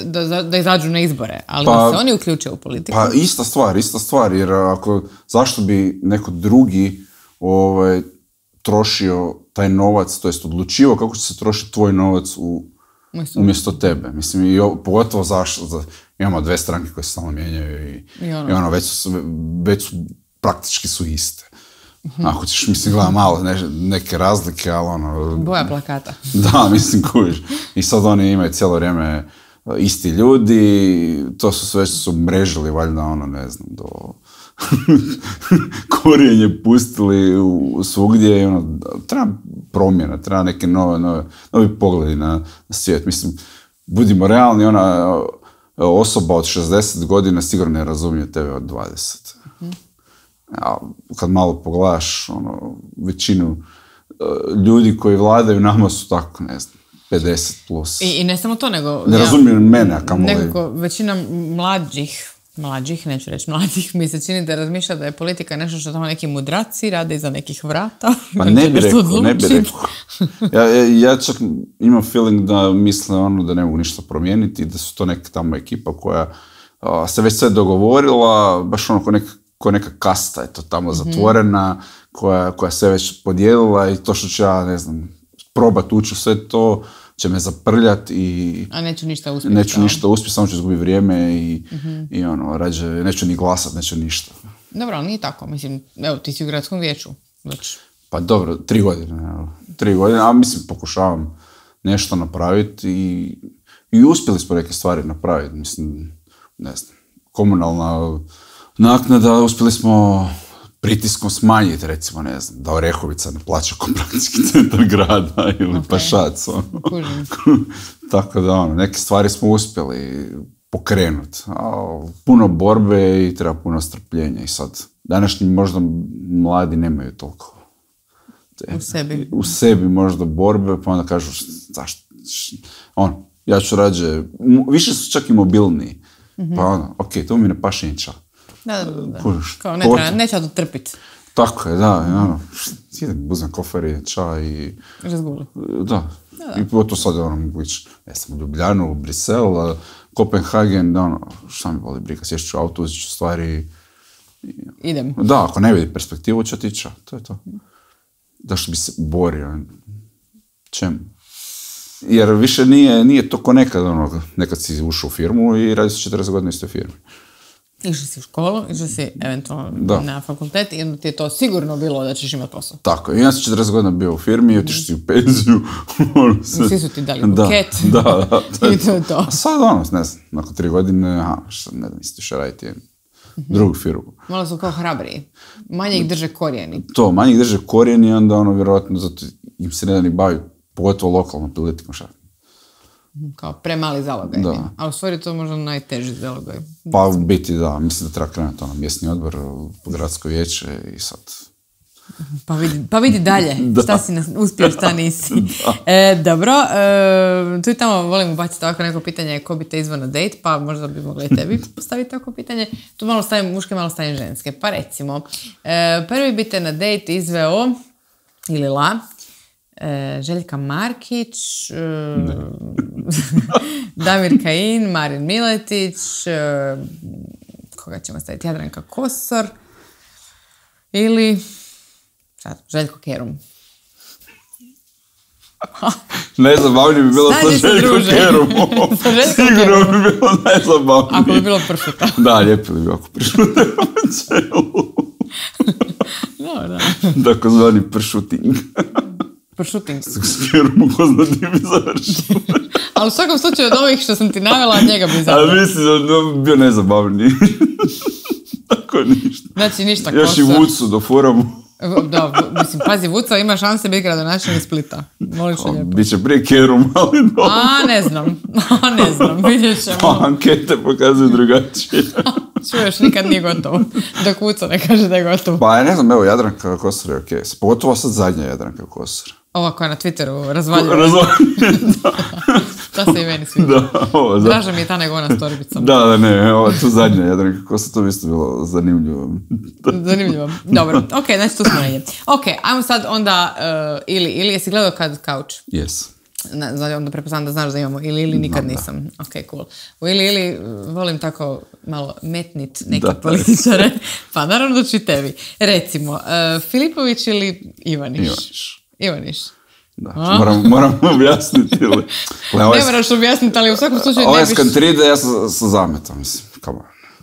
da izađu na izbore, ali da se oni uključe u politiku. Pa ista stvar, jer zašto bi neko drugi trošio taj novac, to jest odlučivao kako će se trošiti tvoj novac umjesto tebe. Mislim, i pogotovo zašto, imamo 2 stranke koje se samo mijenjaju i već su praktički su iste. Ako ćeš, mislim, gleda malo neke razlike, ali boja plakata. Da, mislim, kužiš. I sad oni imaju cijelo vrijeme isti ljudi, to su sve što su mrežili, valjda, ne znam, do korijenje pustili svugdje i treba promjena, treba neke novi pogledi na svijet. Mislim, budimo realni, osoba od 60 godina sigurno ne razumije tebe od 20. A kad malo pogledaš, većinu ljudi koji vladaju nama su tako, ne znam, 50 plus. I ne samo to, nego... Ne razumijem mene, a kamoli... Nekako većina mlađih, neću reći mlađih, mi se čini da razmišlja da je politika nešto što tamo neki mudraci rade iza nekih vrata. Pa ne bi rekao. Ja čak imam feeling da misle da ne mogu ništa promijeniti, da su to neka tamo ekipa koja se već sve dogovorila, baš ko neka kasta je to tamo zatvorena, koja se već podijelila i to što ću ja, ne znam, probat ući u sve to, će me zaprljati i... A neću ništa uspjeti. Neću ništa uspjeti, samo ću izgubiti vrijeme i rađe, neću ni glasat, neću ništa. Dobro, ali nije tako. Mislim, evo, ti si u gradskom vijeću. Znači. Pa dobro, 3 godine. 3 godine, a mislim, pokušavam nešto napraviti i uspjeli smo neke stvari napraviti. Mislim, ne znam, komunalna naknada, uspjeli smo pritiskom smanjiti, recimo, ne znam, da Orehovica ne plaća kooperacijski centar grada ili Pašac. Tako da, neke stvari smo uspjeli pokrenuti. Puno borbe i treba puno strpljenja i sad. Današnji možda mladi nemaju toliko. U sebi možda borbe, pa onda kažu, zašto? Ja ću rađe, više su čak i mobilniji. Pa to mi ne paše niča. Da. Kao neće to trpiti. Tako je, da. Uzmem kofer, čaj i... Razguli. Da. I to sad mogu ići, ne znam, u Ljubljanu, u Brisel, Kopenhagen, šta mi voli briga, sješću ću auto, uzit ću stvari. Idem. Da, ako ne vidi perspektivu, će otići, to je to. Zašto bi se borio? Čemu? Jer više nije to ko nekad si ušao u firmu i radi se 40 godina u istoj firmi. Išli si u školu, išli si eventualno na fakultet i onda ti je to sigurno bilo da ćeš imati posao. Tako, ja sam 40 godina bio u firmi, otišao si u penziju. Svi su ti dali buket. Da. I to je to. A sad ne znam, nakon 3 godine, ne znam, isti še raditi drugu firmu. Malo su kao hrabriji. Manje ih drže korijeni. Manje ih drže korijeni i onda vjerojatno zato im se ne da ni bavi, pogotovo lokalnom politikom šta. Kao premali zalogaj. A u stvari to možda najteži zalogaj. Pa u biti da, mislim da treba krenuti mjesni odbor, gradsko vijeće i sad... Pa vidi dalje, šta si uspio, šta nisi. Dobro, tu i tamo volim ubaciti ovako neko pitanje ko bi te izvao na date, pa možda bi mogla i tebi postaviti tako pitanje. Tu malo stavim muške, malo stavim ženske. Pa recimo, prvi bi te na date izveo ili Željka Markić, Damir Kajin, Marin Miletić, koga ćemo staviti, Jadranka Kosor ili Željko Kerum. Najzabavnije bi bilo sa Željko Kerumom. Sigurno bi bilo najzabavnije. Ako bi bilo pršuta. Da, lijepo bi bilo ako pršuta u čelu. Da. Tako zvani pršuting. Pršuting. S Kerumom ko zna ti bi završio. Ali u svakom slučaju od ovih što sam ti navjela, njega bi završio. Ali mislim da bi bio najzabavniji. Tako ništa. Znači ništa Kosor. Još i Vucu do furamu. Da, mislim, pazi, Vuca ima šanse biti gradonačelnik Splita. Moliš lijepo. Biće prije Kerum, ali dobro. Ne znam, vidjet ćemo. Ankete pokazuju drugačije. Čuješ, nikad nije gotovo. Dok Vuca ne kaže da je gotovo. Pa ne znam, evo, Jadranka Kosor je okej. Pogotovo sad zadnja Jadranka Kosor. Ova koja na Twitteru razvaljuje. Da. To se i meni sviđa. Draža mi je ta nego ona s torbicom. Da, ne, ova tu zadnja Jadranka Kosor, to bi isto bilo zanimljivo. Zanimljivo. Dobro, ok, znači tu smo negdje. Ok, ajmo sad onda ili jesi gledao kad Couch? Yes. Onda prepoznam da znaš da imamo ili nikad nisam. Ok, cool. U ili volim tako malo metnit neke političare. Pa naravno da ću i tebi. Recimo, Filipović ili Ivaniš. Da, moram objasniti. Ne moraš objasniti, ali u svakom slučaju ne biš... Ovaj skantride, ja sam zametao, mislim,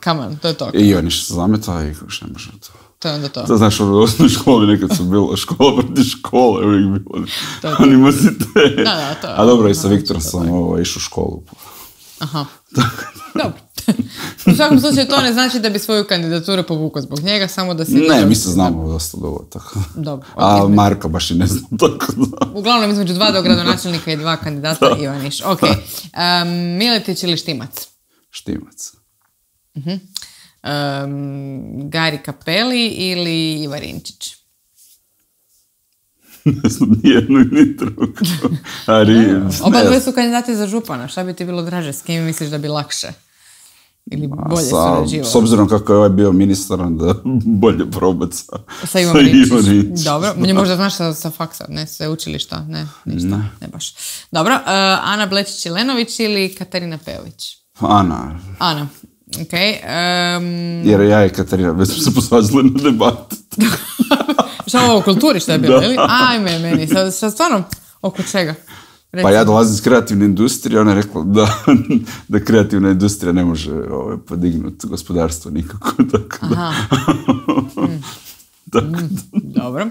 come on. To je to. I Ivaniš se zametao i još ne može to. To je onda to. To znaš, u osnovnoj školi nekad su bilo škola proti škole, uvijek bilo animozitet. Da, to je. A dobro, i sa Viktorom sam išao u školu. Aha. Dobro. U svakom slučaju to ne znači da bi svoju kandidaturu povukao zbog njega, samo da si... Ne, mi se znamo dosta dobro, tako. Dobro. A Marka baš i ne znam, tako da. Uglavnom između 2 dogradonačelnika i 2 kandidata Ivaniš. Ok. Miletić ili Štimac? Štimac. Gaj Gari Cappelli ili Iva Rinčić? Ne znam, nijedno ni drugo. Oba dvoje su kandidati za župana. Šta bi ti bilo draže? S kim misliš da bi lakše? Ili bolje surađivao? S obzirom kako je ovaj bio ministar, onda bolje probati sa Ivom Rinčić. Dobro, meni možda znaš sa faksa, ne, sve učilišta, ne, ništa, ne baš. Dobro, Ana Blečić-Jelenović ili Katarina Peović? Ana, okej. Jer ja i Katarina već smo se posvađali na debatu. Šta ovo u kulturi što je bilo, ili? Ajme, meni, sad stvarno, oko čega? Recimo. Pa ja dolazim iz kreativne industrije, ona je rekla da kreativna industrija ne može podignuti gospodarstvo nikako. Tako da. Dobro.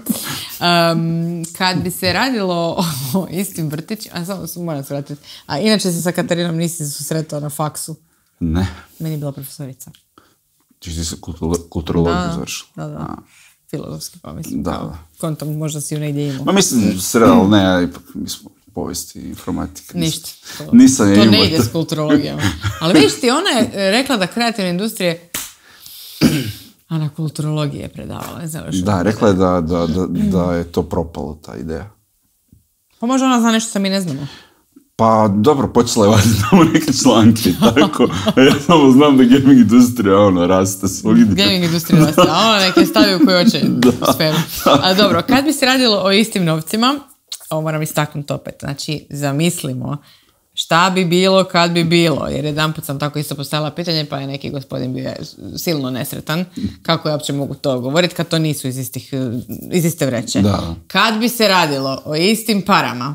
Kad bi se radilo o istim vrtićima, a samo moram se vratiti, a inače se sa Katarinom nisi susretao na faksu? Ne. Meni je bila profesorica. Ti si kulturologiju završila? Da. Filozofski, pa mislim. Da. Kontom možda si ju negdje imao. Ma mislim, sredalo, ne, ja ipak mi smo povijesti i informatika. Ništa. Nisam je imao. To ne ide s kulturologijom. Ali vidiš ti, ona je rekla da kreativne industrije a na kulturologiji je predavala. Ne znam još. Da, rekla je da je to propalo, ta ideja. Pa možda ona zna nešto što mi ne znamo. Pa dobro, počela je vaditi tamo neke članke, tako. Ja samo znam da gaming industrija, raste svog ide. Gaming industrija raste, a ona neke stavi u koju hoće sferu. A dobro, kad bi se radilo o istim novcima, ovo moram istaknuti opet, znači zamislimo šta bi bilo kad bi bilo, jer jedanput sam tako isto postavila pitanje, pa je neki gospodin bio silno nesretan, kako ja uopće mogu to govoriti kad to nisu iz iste vreće. Da. Kad bi se radilo o istim parama,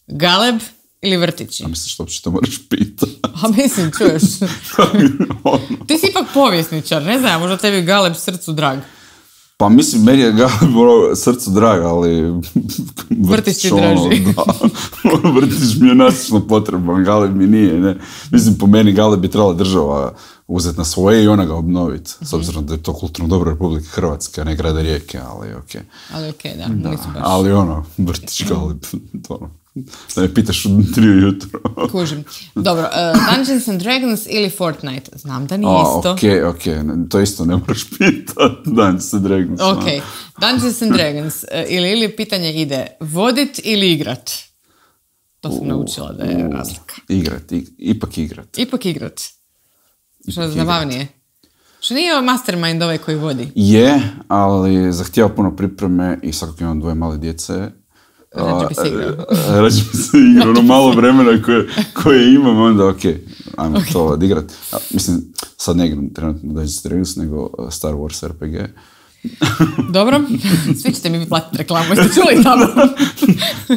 Galeb ili vrtići? A misliš što uopće to moraš pitati? A mislim, čuješ. Ti si ipak povjesničar, ne znam, možda tebi Galeb srcu drag. Pa mislim, meni je Galeb srcu drag, ali... Vrtić ti draži. Vrtić mi je nasično potreban, Galeb mi nije, ne. Mislim, po meni Galeb bi trebala država uzeti na svoje i ona ga obnoviti. S obzirom da je to kulturno dobro Republike Hrvatske, a ne grada Rijeke, ali okej. Ali okej, da, nisu baš. Ali vrtić Galeb, to da me pitaš u 3 ujutro. Kužim. Dobro, Dungeons and Dragons ili Fortnite? Znam da nije isto. Okej, to isto ne moraš pitati. Dungeons and Dragons. Okej, Dungeons and Dragons. Ili pitanje ide vodit ili igrat? To sam naučila da je razlika. Ipak igrat. Što je zabavnije? Što nije mastermind ovaj koji vodi? Je, ali zahtijeva puno pripreme i svakako imam 2 male djece. Rađe bi se igrao. Rađe bi se igrao, ono malo vremena koje imam, onda ajmo to odigrat. Mislim, sad ne igram trenutno Dungeons & Dragons, nego Star Wars RPG. Dobro, svi ćete mi platiti reklamu, jeste čuli tamo?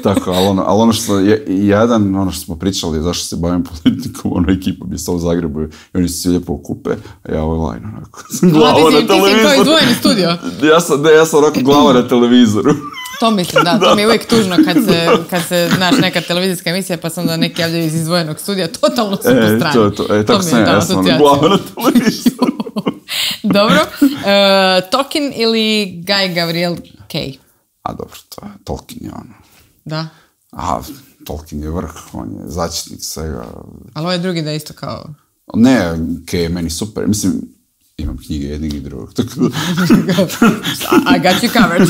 Tako, ali ono što je jedan, ono što smo pričali, zašto se bavim politikom, ekipa bi stala u Zagrebu i oni se svi lijepo okupe, a ja online onako. Glava na televizoru. Ti si kao izdvojeni studio. Ja sam onako glava na televizoru. To mislim, da, to mi je uvijek tužno kad se, znaš, neka televizijska emisija pa sam da neki javljaju iz izdvojenog studija, totalno su po strani. Tako sam ja sam glava na televizoru. Dobro. Tolkien ili Guy Gavriel Kay? A dobro, Tolkien je ono. Da? Tolkien je vrh, on je začetnik svega. Ali ovaj drugi da isto kao... Ne, Kay je meni super. Mislim, imam knjige jednog i drugog. I got you covered.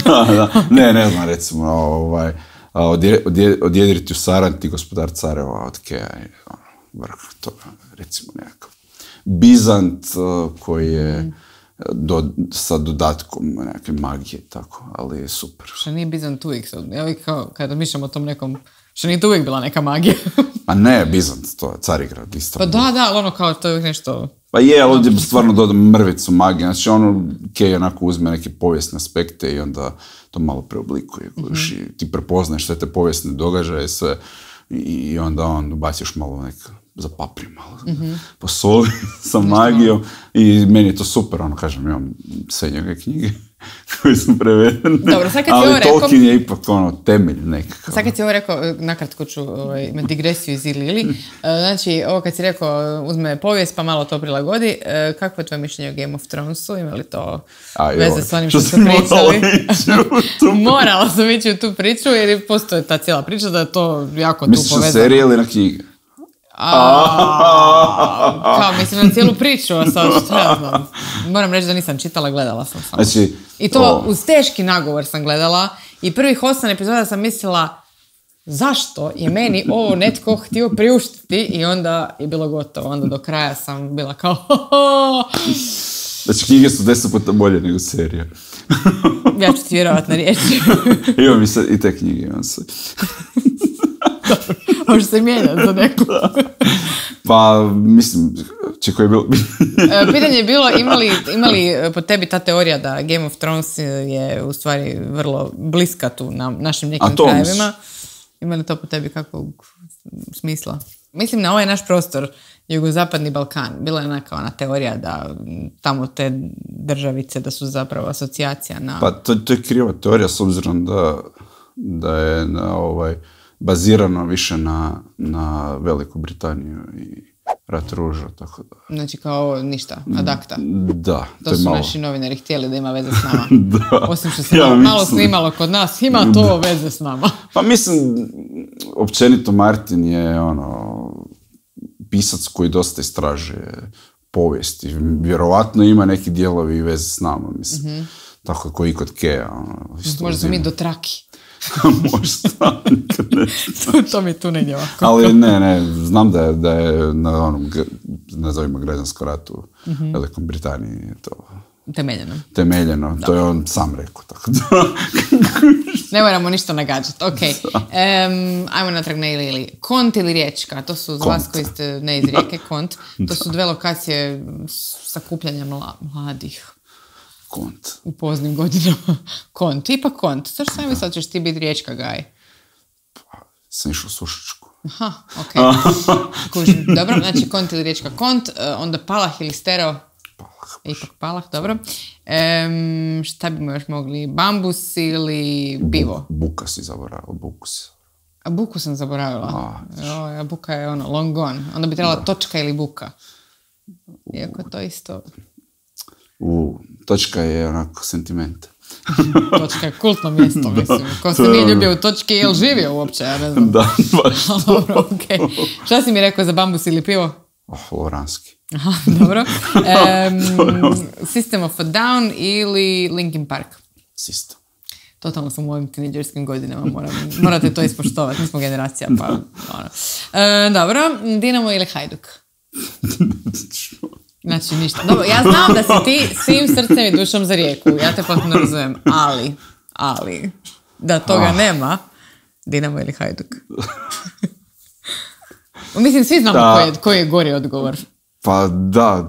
Da. Ne znam, recimo, odjedriti u Saranti, gospodar careva od Keja je vrh toga, recimo nekakav. Bizant koji je sa dodatkom neke magije, tako, ali je super. Što nije Bizant uvijek? Ja uvijek kao, kada mišljam o tom nekom, što nije to uvijek bila neka magija? A ne, Bizant, to je Carigrad isto. Pa da, ali ono kao to je uvijek nešto... Pa je, ali ovdje stvarno dodam mrvicu magije. Znači Kay onako uzme neke povijesne aspekte i onda to malo preoblikuje. I ti prepoznaješ sve te povijesne događaje, sve, i onda on ubaciš malo zapapri malo, posoli sa magijom i meni je to super, kažem, imam sve njegove knjige koje su prevedene. Dobro, ali Tolkien je ipak temelj nekakav. Sad kad si ovo rekao, nakratko ću imati digresiju iz Ili. Znači, ovo kad si rekao, uzme povijest pa malo to prilagodi, kakvo je tvoje mišljenje o Game of Thronesu? Ima li to veze s onim što su pričali? Morala sam ići u tu priču jer postoje ta cijela priča da je to jako tu povezano. Misliš na serije ili na knjige? Kao, mislim, na cijelu priču, a sad šta ja znam. Moram reći da nisam čitala, gledala sam samo. Znači, I to uz teški nagovor sam gledala i prvih 8 epizoda sam mislila zašto je meni ovo netko htio priuštiti i onda je bilo gotovo. Onda do kraja sam bila kao Znači, knjige su 10 puta bolje nego serija. Ja ću ti vjerovatno riječi. Imam i te knjige, imam sve. Može se mijenjati za neku. Pa, mislim, koji je bilo... Pitanje je bilo, imali po tebi ta teorija da Game of Thrones je u stvari vrlo bliska tu na našim nekim krajevima? Ima li to po tebi kakvog smisla? Mislim, na ovaj naš prostor, jugozapadni Balkan, bila je ona teorija da tamo te državice da su zapravo asocijacija na... Pa to je kriva teorija s obzirom da je bazirano više na Veliku Britaniju i Rat ruža, tako da... Znači kao ništa, ad acta. Da, to su malo. Naši novinari htjeli da ima veze s nama. Da. Osim što se malo snimalo kod nas, ima to veze s nama. Pa mislim, općenito Martin je pisac koji dosta istražuje povijest i vjerovatno ima neki dijelovi i veze s nama, mislim. Mm-hmm. Tako koji i kod Keja. Možda smo mi do traki. Možda, nikad ne. To mi tu negdje ovako. Ali ne, znam da je na onom, nazovimo građanskom ratu u Velikom Britaniji to temeljeno. To je on sam rekao, tako da. Ne moramo ništa nagađati. Ok. Ajmo natrag na ili. Kont ili Riječka, to su za vas koji ste ne iz Rijeke, Kont. To su dve lokacije sakupljanja mladih. Kont. U poznim godinama. Kont. Ipak Kont. Zašto sam mislila da ćeš ti biti Riječka gaj? Pa, sam išao u Sušičku. Aha, ok. Dobro, znači Kont ili Riječka Kont. Onda Palah ili Stereo? Palah. Ipak Palah, dobro. Šta bi još mogli? Bambus ili pivo? Buka si zaboravila, buku si. A buku sam zaboravila. A buka je long gone. Onda bi trebala točka ili buka. Iako to isto... Točka je onako sentiment. Točka je kultno mjesto, mislim. Ko se nije ljubio u točki, je li živio uopće, ja ne znam. Da, baš to. Dobro, okej. Šta si mi rekao za bambus ili pivo? Loranski. Aha, dobro. System of a Down ili Linkin Park? System. Totalno sam u ovim tineđerskim godinama, morate to ispoštovati, nismo generacija, pa... Dobro, Dinamo ili Hajduk? Znači ništa. Dobro, ja znam da si ti svim srcem i dušom za Rijeku, ja te potpuno razumijem, ali, da toga nema, Dinamo ili Hajduk? Mislim, svi znamo koji je gori odgovor. Pa da,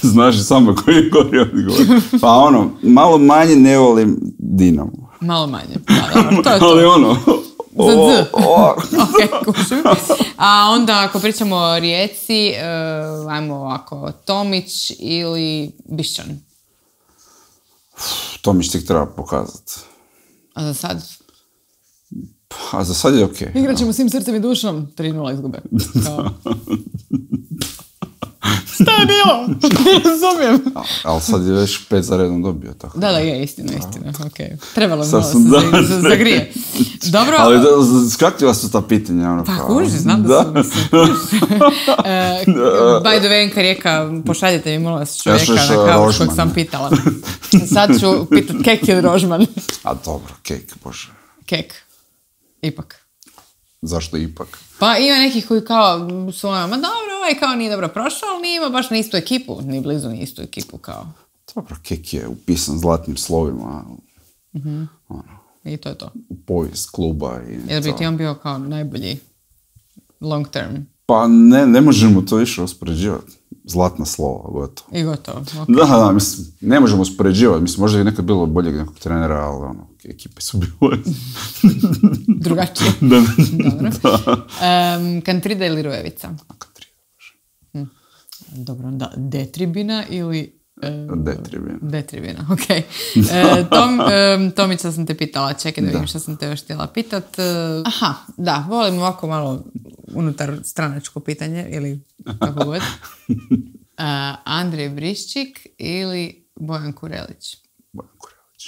znaš samo koji je gori odgovor. Pa malo manje ne volim Dinamo. Malo manje, da, dobro, to je to. Ali Za Z. Ok, kušim. A onda ako pričamo o Rijeci, ajmo ovako, Tomić ili Bišćan? Tomić ti treba pokazati. A za sad? A za sad je okej. Igrat ćemo svim srcem i dušom, 3-0 izgube. Šta je bilo? Ne razumijem. Ali sad je već 5 za redom dobio. Tako. Da, je, istina. Okay. Trebalo mi malo se zagrije. Dobro. Ali skratila su ta pitanja. Pa kuži, znam da su. By the way, Enka Rijeka, pošaljite mi malo vas čovjeka na kavu kojeg sam pitala. Sad ću pitat kek ili rožman. A dobro, kek, bože. Kek. Ipak. Zašto ipak? Pa ima nekih koji kao su ma dobro, ovaj kao nije dobro prošao, ali nije ima baš na istu ekipu, ni blizu ni istu ekipu kao. Dobro, kek je upisan zlatnim slovima. I to je to. U povijest kluba. Jel bi ti on bio kao najbolji long term? Pa ne možemo to više uspoređivati. Zlatna slova, gotovo. I gotovo, ok. Da, mislim, ne možemo uspoređivati. Mislim, možda je nekad bilo boljeg nekog trenera, ali ekipe su bile drugačije. Da. Dobro. Kantrida ili Rujevica? Kantrida. Dobro, da. Detribina ili... Detribina, ok. Tomića sam te pitala, čekaj da vidim što sam te još htjela pitat. Aha, da, volim ovako malo unutar stranačko pitanje, ili kako god. Andrej Briščik ili Bojan Kurelić? Bojan Kurelić.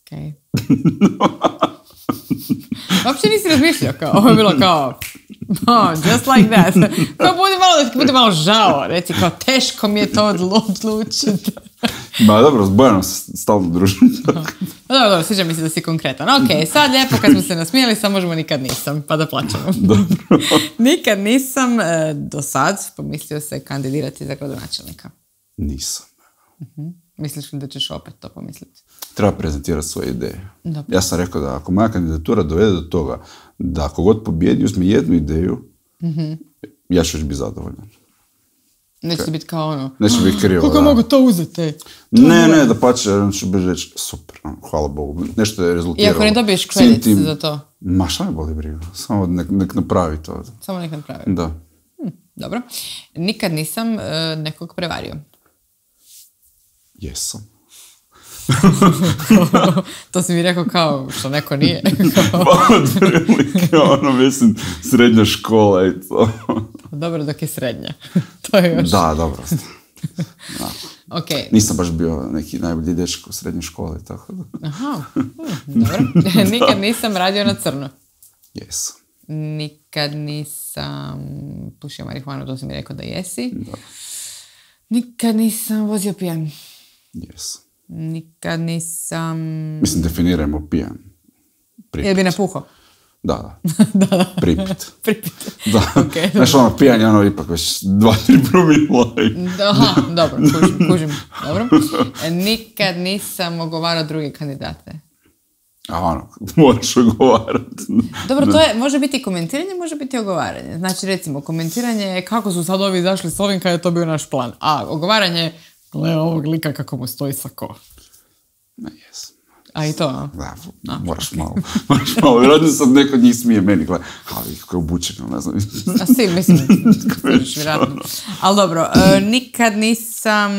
Ok. Uopće nisi razmišljao kao, ovo je bilo kao... Just like that. Kao budi malo žao, reci kao teško mi je to odlučiti. Ma dobro, s Bojanom se stalno družim. Dobro, sviđa mi se da si konkretan. Ok, sad lijepo kad smo se nasmijeli, sad možemo nikad nisam, pa da plaćamo. Nikad nisam do sad pomislio se kandidirati za gradonačelnika. Nisam. Misliš li da ćeš opet to pomisliti? Treba prezentirati svoje ideje. Dobro. Ja sam rekao da ako moja kandidatura dovede do toga da ako god pobjedi uzme jednu ideju, ja ću biti zadovoljan. Neće biti kao ono... Neće biti krivo, kako mogu to uzeti? Ne, da pače, ću biti reći, super, hvala Bogu, nešto je rezultiralo. I ako ne dobiješ kredit za to? Ma šta me boli briga, samo nek napravi to. Samo nek napravi? Da. Dobro. Nikad nisam nekog prevario. Jesam. To si mi rekao kao što neko nije. Pa otprilike, mislim, srednja škola i to. Dobro dok je srednja. To je još... Da, dobro. Da. Okay. Nisam baš bio neki najbolji dečko u srednjoj školi, tako da. Aha, dobro. Nikad nisam radio na crno. Jesam. Nikad nisam pušio marihuanu, to si mi rekao da jesi. Da. Nikad nisam vozio pijan. Jesam. Nikad nisam... Mislim, definirajmo pijan. Pripit. Jel bi napuhao? Da. Da. Pripit. Pripit. Da. Okay, znaš, pijan je ipak već 2-3 promila. Aha, dobro, kužim. Dobro. Nikad nisam ogovarao druge kandidate. Moraš ogovarati. Dobro, to je, može biti komentiranje, može biti ogovaranje. Znači, recimo, komentiranje je kako su sad ovi izašli s ovim kad je to bio naš plan. A ogovaranje, gle ovog lika kako mu stoji sako. Ne, jesam. A i to, a? Da, moraš malo. Vjerojatno sad neko od njih smije meni, gledaj, ali kako je obučeno, ne znam. A si, mislim, vjerojatno. Ali dobro, nikad nisam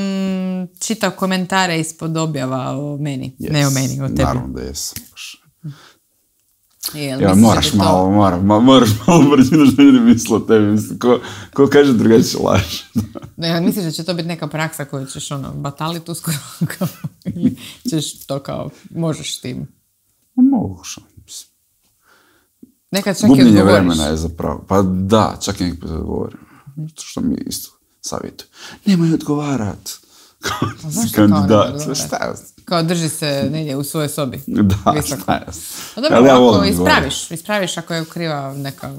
čitao komentare ispod objava o meni. Yes. Ne o meni, o tebi. Naravno da jesam. Moraš malo brzino što ljudi misle o tebi. Mislim, ko kaže drugačije laž. Ne, misliš da će to biti neka praksa koju ćeš bataliti uskoro? Ili ćeš to kao, možeš s tim? Možeš, mislim. Nekad čak i odgovoriš. Gubljenje vremena je zapravo. Pa da, čak i nekad odgovorim. Što mi isto savjetuju. Nemoj odgovarat. Kandidat. Kao drži se negdje u svojoj sobi. Da, visoko. šta dobro, ako ispraviš ako je kriva neka...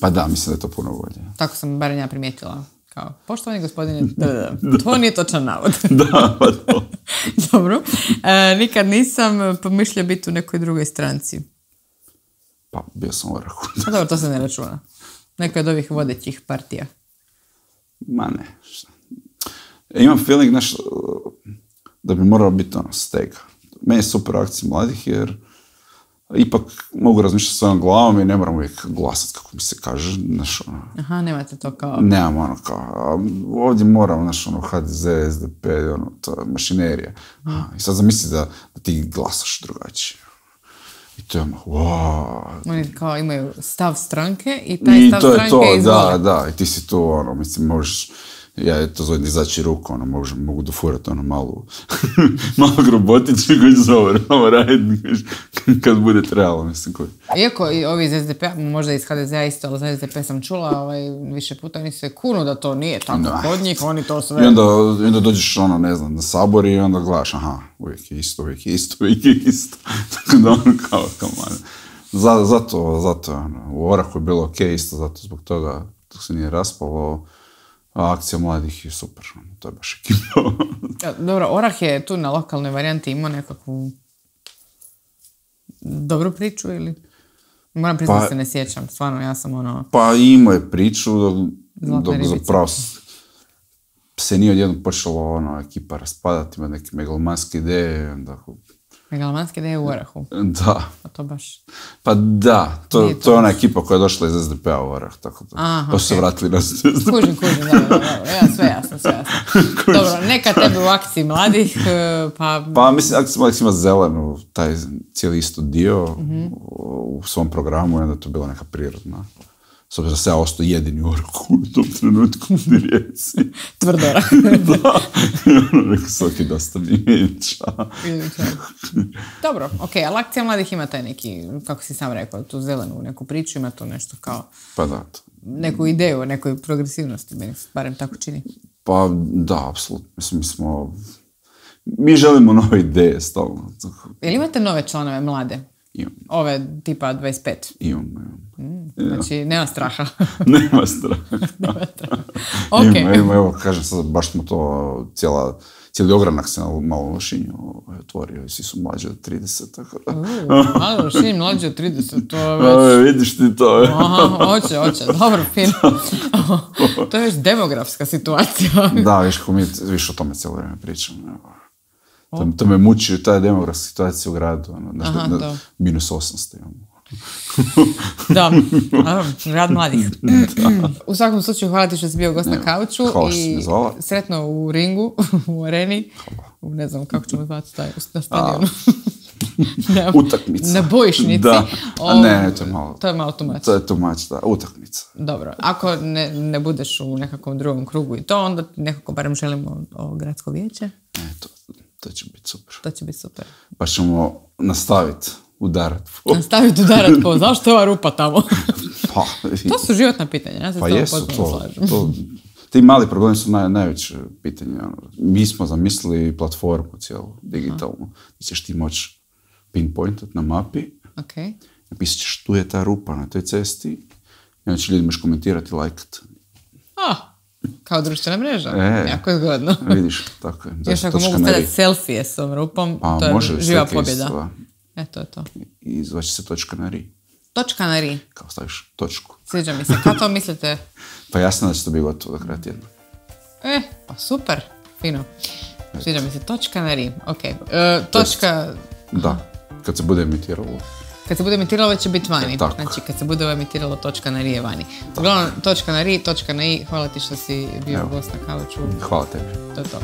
Pa da, mislim da je to puno bolje. Tako sam barem ja primijetila. Kao, poštovani gospodine, to nije točan navod. Da, pa to. Dobro. Nikad nisam pomišljao biti u nekoj drugoj stranci. Pa, bio sam u Orahu. A dobro, to se ne računa. Neko od ovih vodećih partija. Ma ne. Imam feeling, da bi moralo biti stega. Meni je super akcija mladih, jer ipak mogu razmišljati svojom glavom i ne moram uvijek glasati, kako mi se kaže. Aha, nemate to kao... Nemam kao... Ovdje moram, HDZ, SDP, to je mašinerija. I sad zamisli da ti glasaš drugačije. I to je Oni kao imaju stav stranke i taj stav stranke izvoli. Da, i ti si tu, mislim, možeš... Ja to zovem izaći ruku, mogu dofurati malu roboticu koji će samo raditi kad bude trebalo, mislim koji. Iako i ovi iz SDP-a, možda iz HDZ-a isto, ali za SDP sam čula više puta, oni se kunu da to nije tako kod njih, oni to sve... I onda dođeš, na sabor i onda gledaš, aha, uvijek je isto. Tako da kao zato, u Orahu je bilo okej isto, zato zbog toga dok se nije raspalo. A akcija mladih je super, to je baš ekipa. Dobro, Orah je tu na lokalnoj varijanti imao nekakvu dobru priču ili? Moram priznati da se ne sjećam, stvarno, ja sam Pa imao je priču, dok zapravo se nije odjednom počelo ekipa raspadati, ima neke megalomanske ideje, onda... Megalomanske ideje u Orahu? Da. A to baš... Pa da, to je ona ekipa koja je došla iz SDP-a u Orah, tako da. Pa su se vratili na SDP. Kužim, da, sve jasno. Dobro, neka tebe u akciji mladih, pa... Pa mislim, akcija mladih ima zelenu, taj cijeli isto dio u svom programu i onda je to bila neka prirodna S obzirom da se ja ostao jedini u Orku u tom trenutku u Rijeci. Tvrdora. Da. Rekao svaki dosta mi Dobro, okej, ali akcija mladih ima taj neki, kako si sam rekao, tu zelenu neku priču, ima to nešto kao... Pa da. Neku ideju o nekoj progresivnosti, meni se barem tako čini. Pa da, apsolutno. Mislim, mi želimo nove ideje stalno. Jel imate nove članove mlade? Imam. Ove tipa 25? Imam. Znači, nema straha. Nema straha. Okay. Ima, evo, kažem sad, baš smo to, cijeli ogranak se malo u Lošinju otvorio i svi su mlađi od 30, tako da. Malo Lošinj mlađi od 30, to je već... Vidiš ti to. Aha, hoće, dobro, fino. To je već demografska situacija. Da, viš o tome cijelo vrijeme pričam. To me muči, ta demografska situacija u gradu. Minus 800 imamo. Da, rad mladih. U svakom slučaju, hvala ti što si bio gost na kauču i sretno u ringu, u areni, u ne znam kako ćemo zvati na stadionu. Utakmica. Na bojišnici. Da. Ne, to je malo... To je malo tumač. To je tumač, da. Utakmica. Dobro. Ako ne budeš u nekakvom drugom krugu i to, onda nekako barem želimo o gradsko vijeće. To će biti super. To će biti super. Pa ćemo nastaviti udarat po. Nastaviti udarat po. Zašto je ova rupa tamo? Pa, to su životna pitanja. Ja se pa jesu to. Ti mali problemi su najveće pitanje. Mi smo zamislili platformu cijelu, digitalnu. Ti ćeš ti moći pinpointat na mapi. Okay. Napisat ćeš tu je ta rupa na toj cesti. I onda će ljudi možeš komentirati i lajkat. Kao društvena mreža. Jako je zgodno. Vidiš, tako je. Još ako mogu stavljati selfije s tom rupom, to je živa pobjeda. To je to. I zvaće se točka na ri. Točka na ri? Kao staviš točku. Sviđa mi se. Kako to mislite? Pa jasno da će to biti gotovo do kraja tjedna. Pa super. Fino. Sviđa mi se. Točka na ri. Ok. Točka... Da. Kad se bude emitiralo. Kad se bude emitiralo, već će biti vani. Znači, kad se bude emitiralo, točka na ri je vani. Uglavnom, točka na ri, točka na i. Hvala ti što si bio gost na kauču. Hvala tebi. To je to.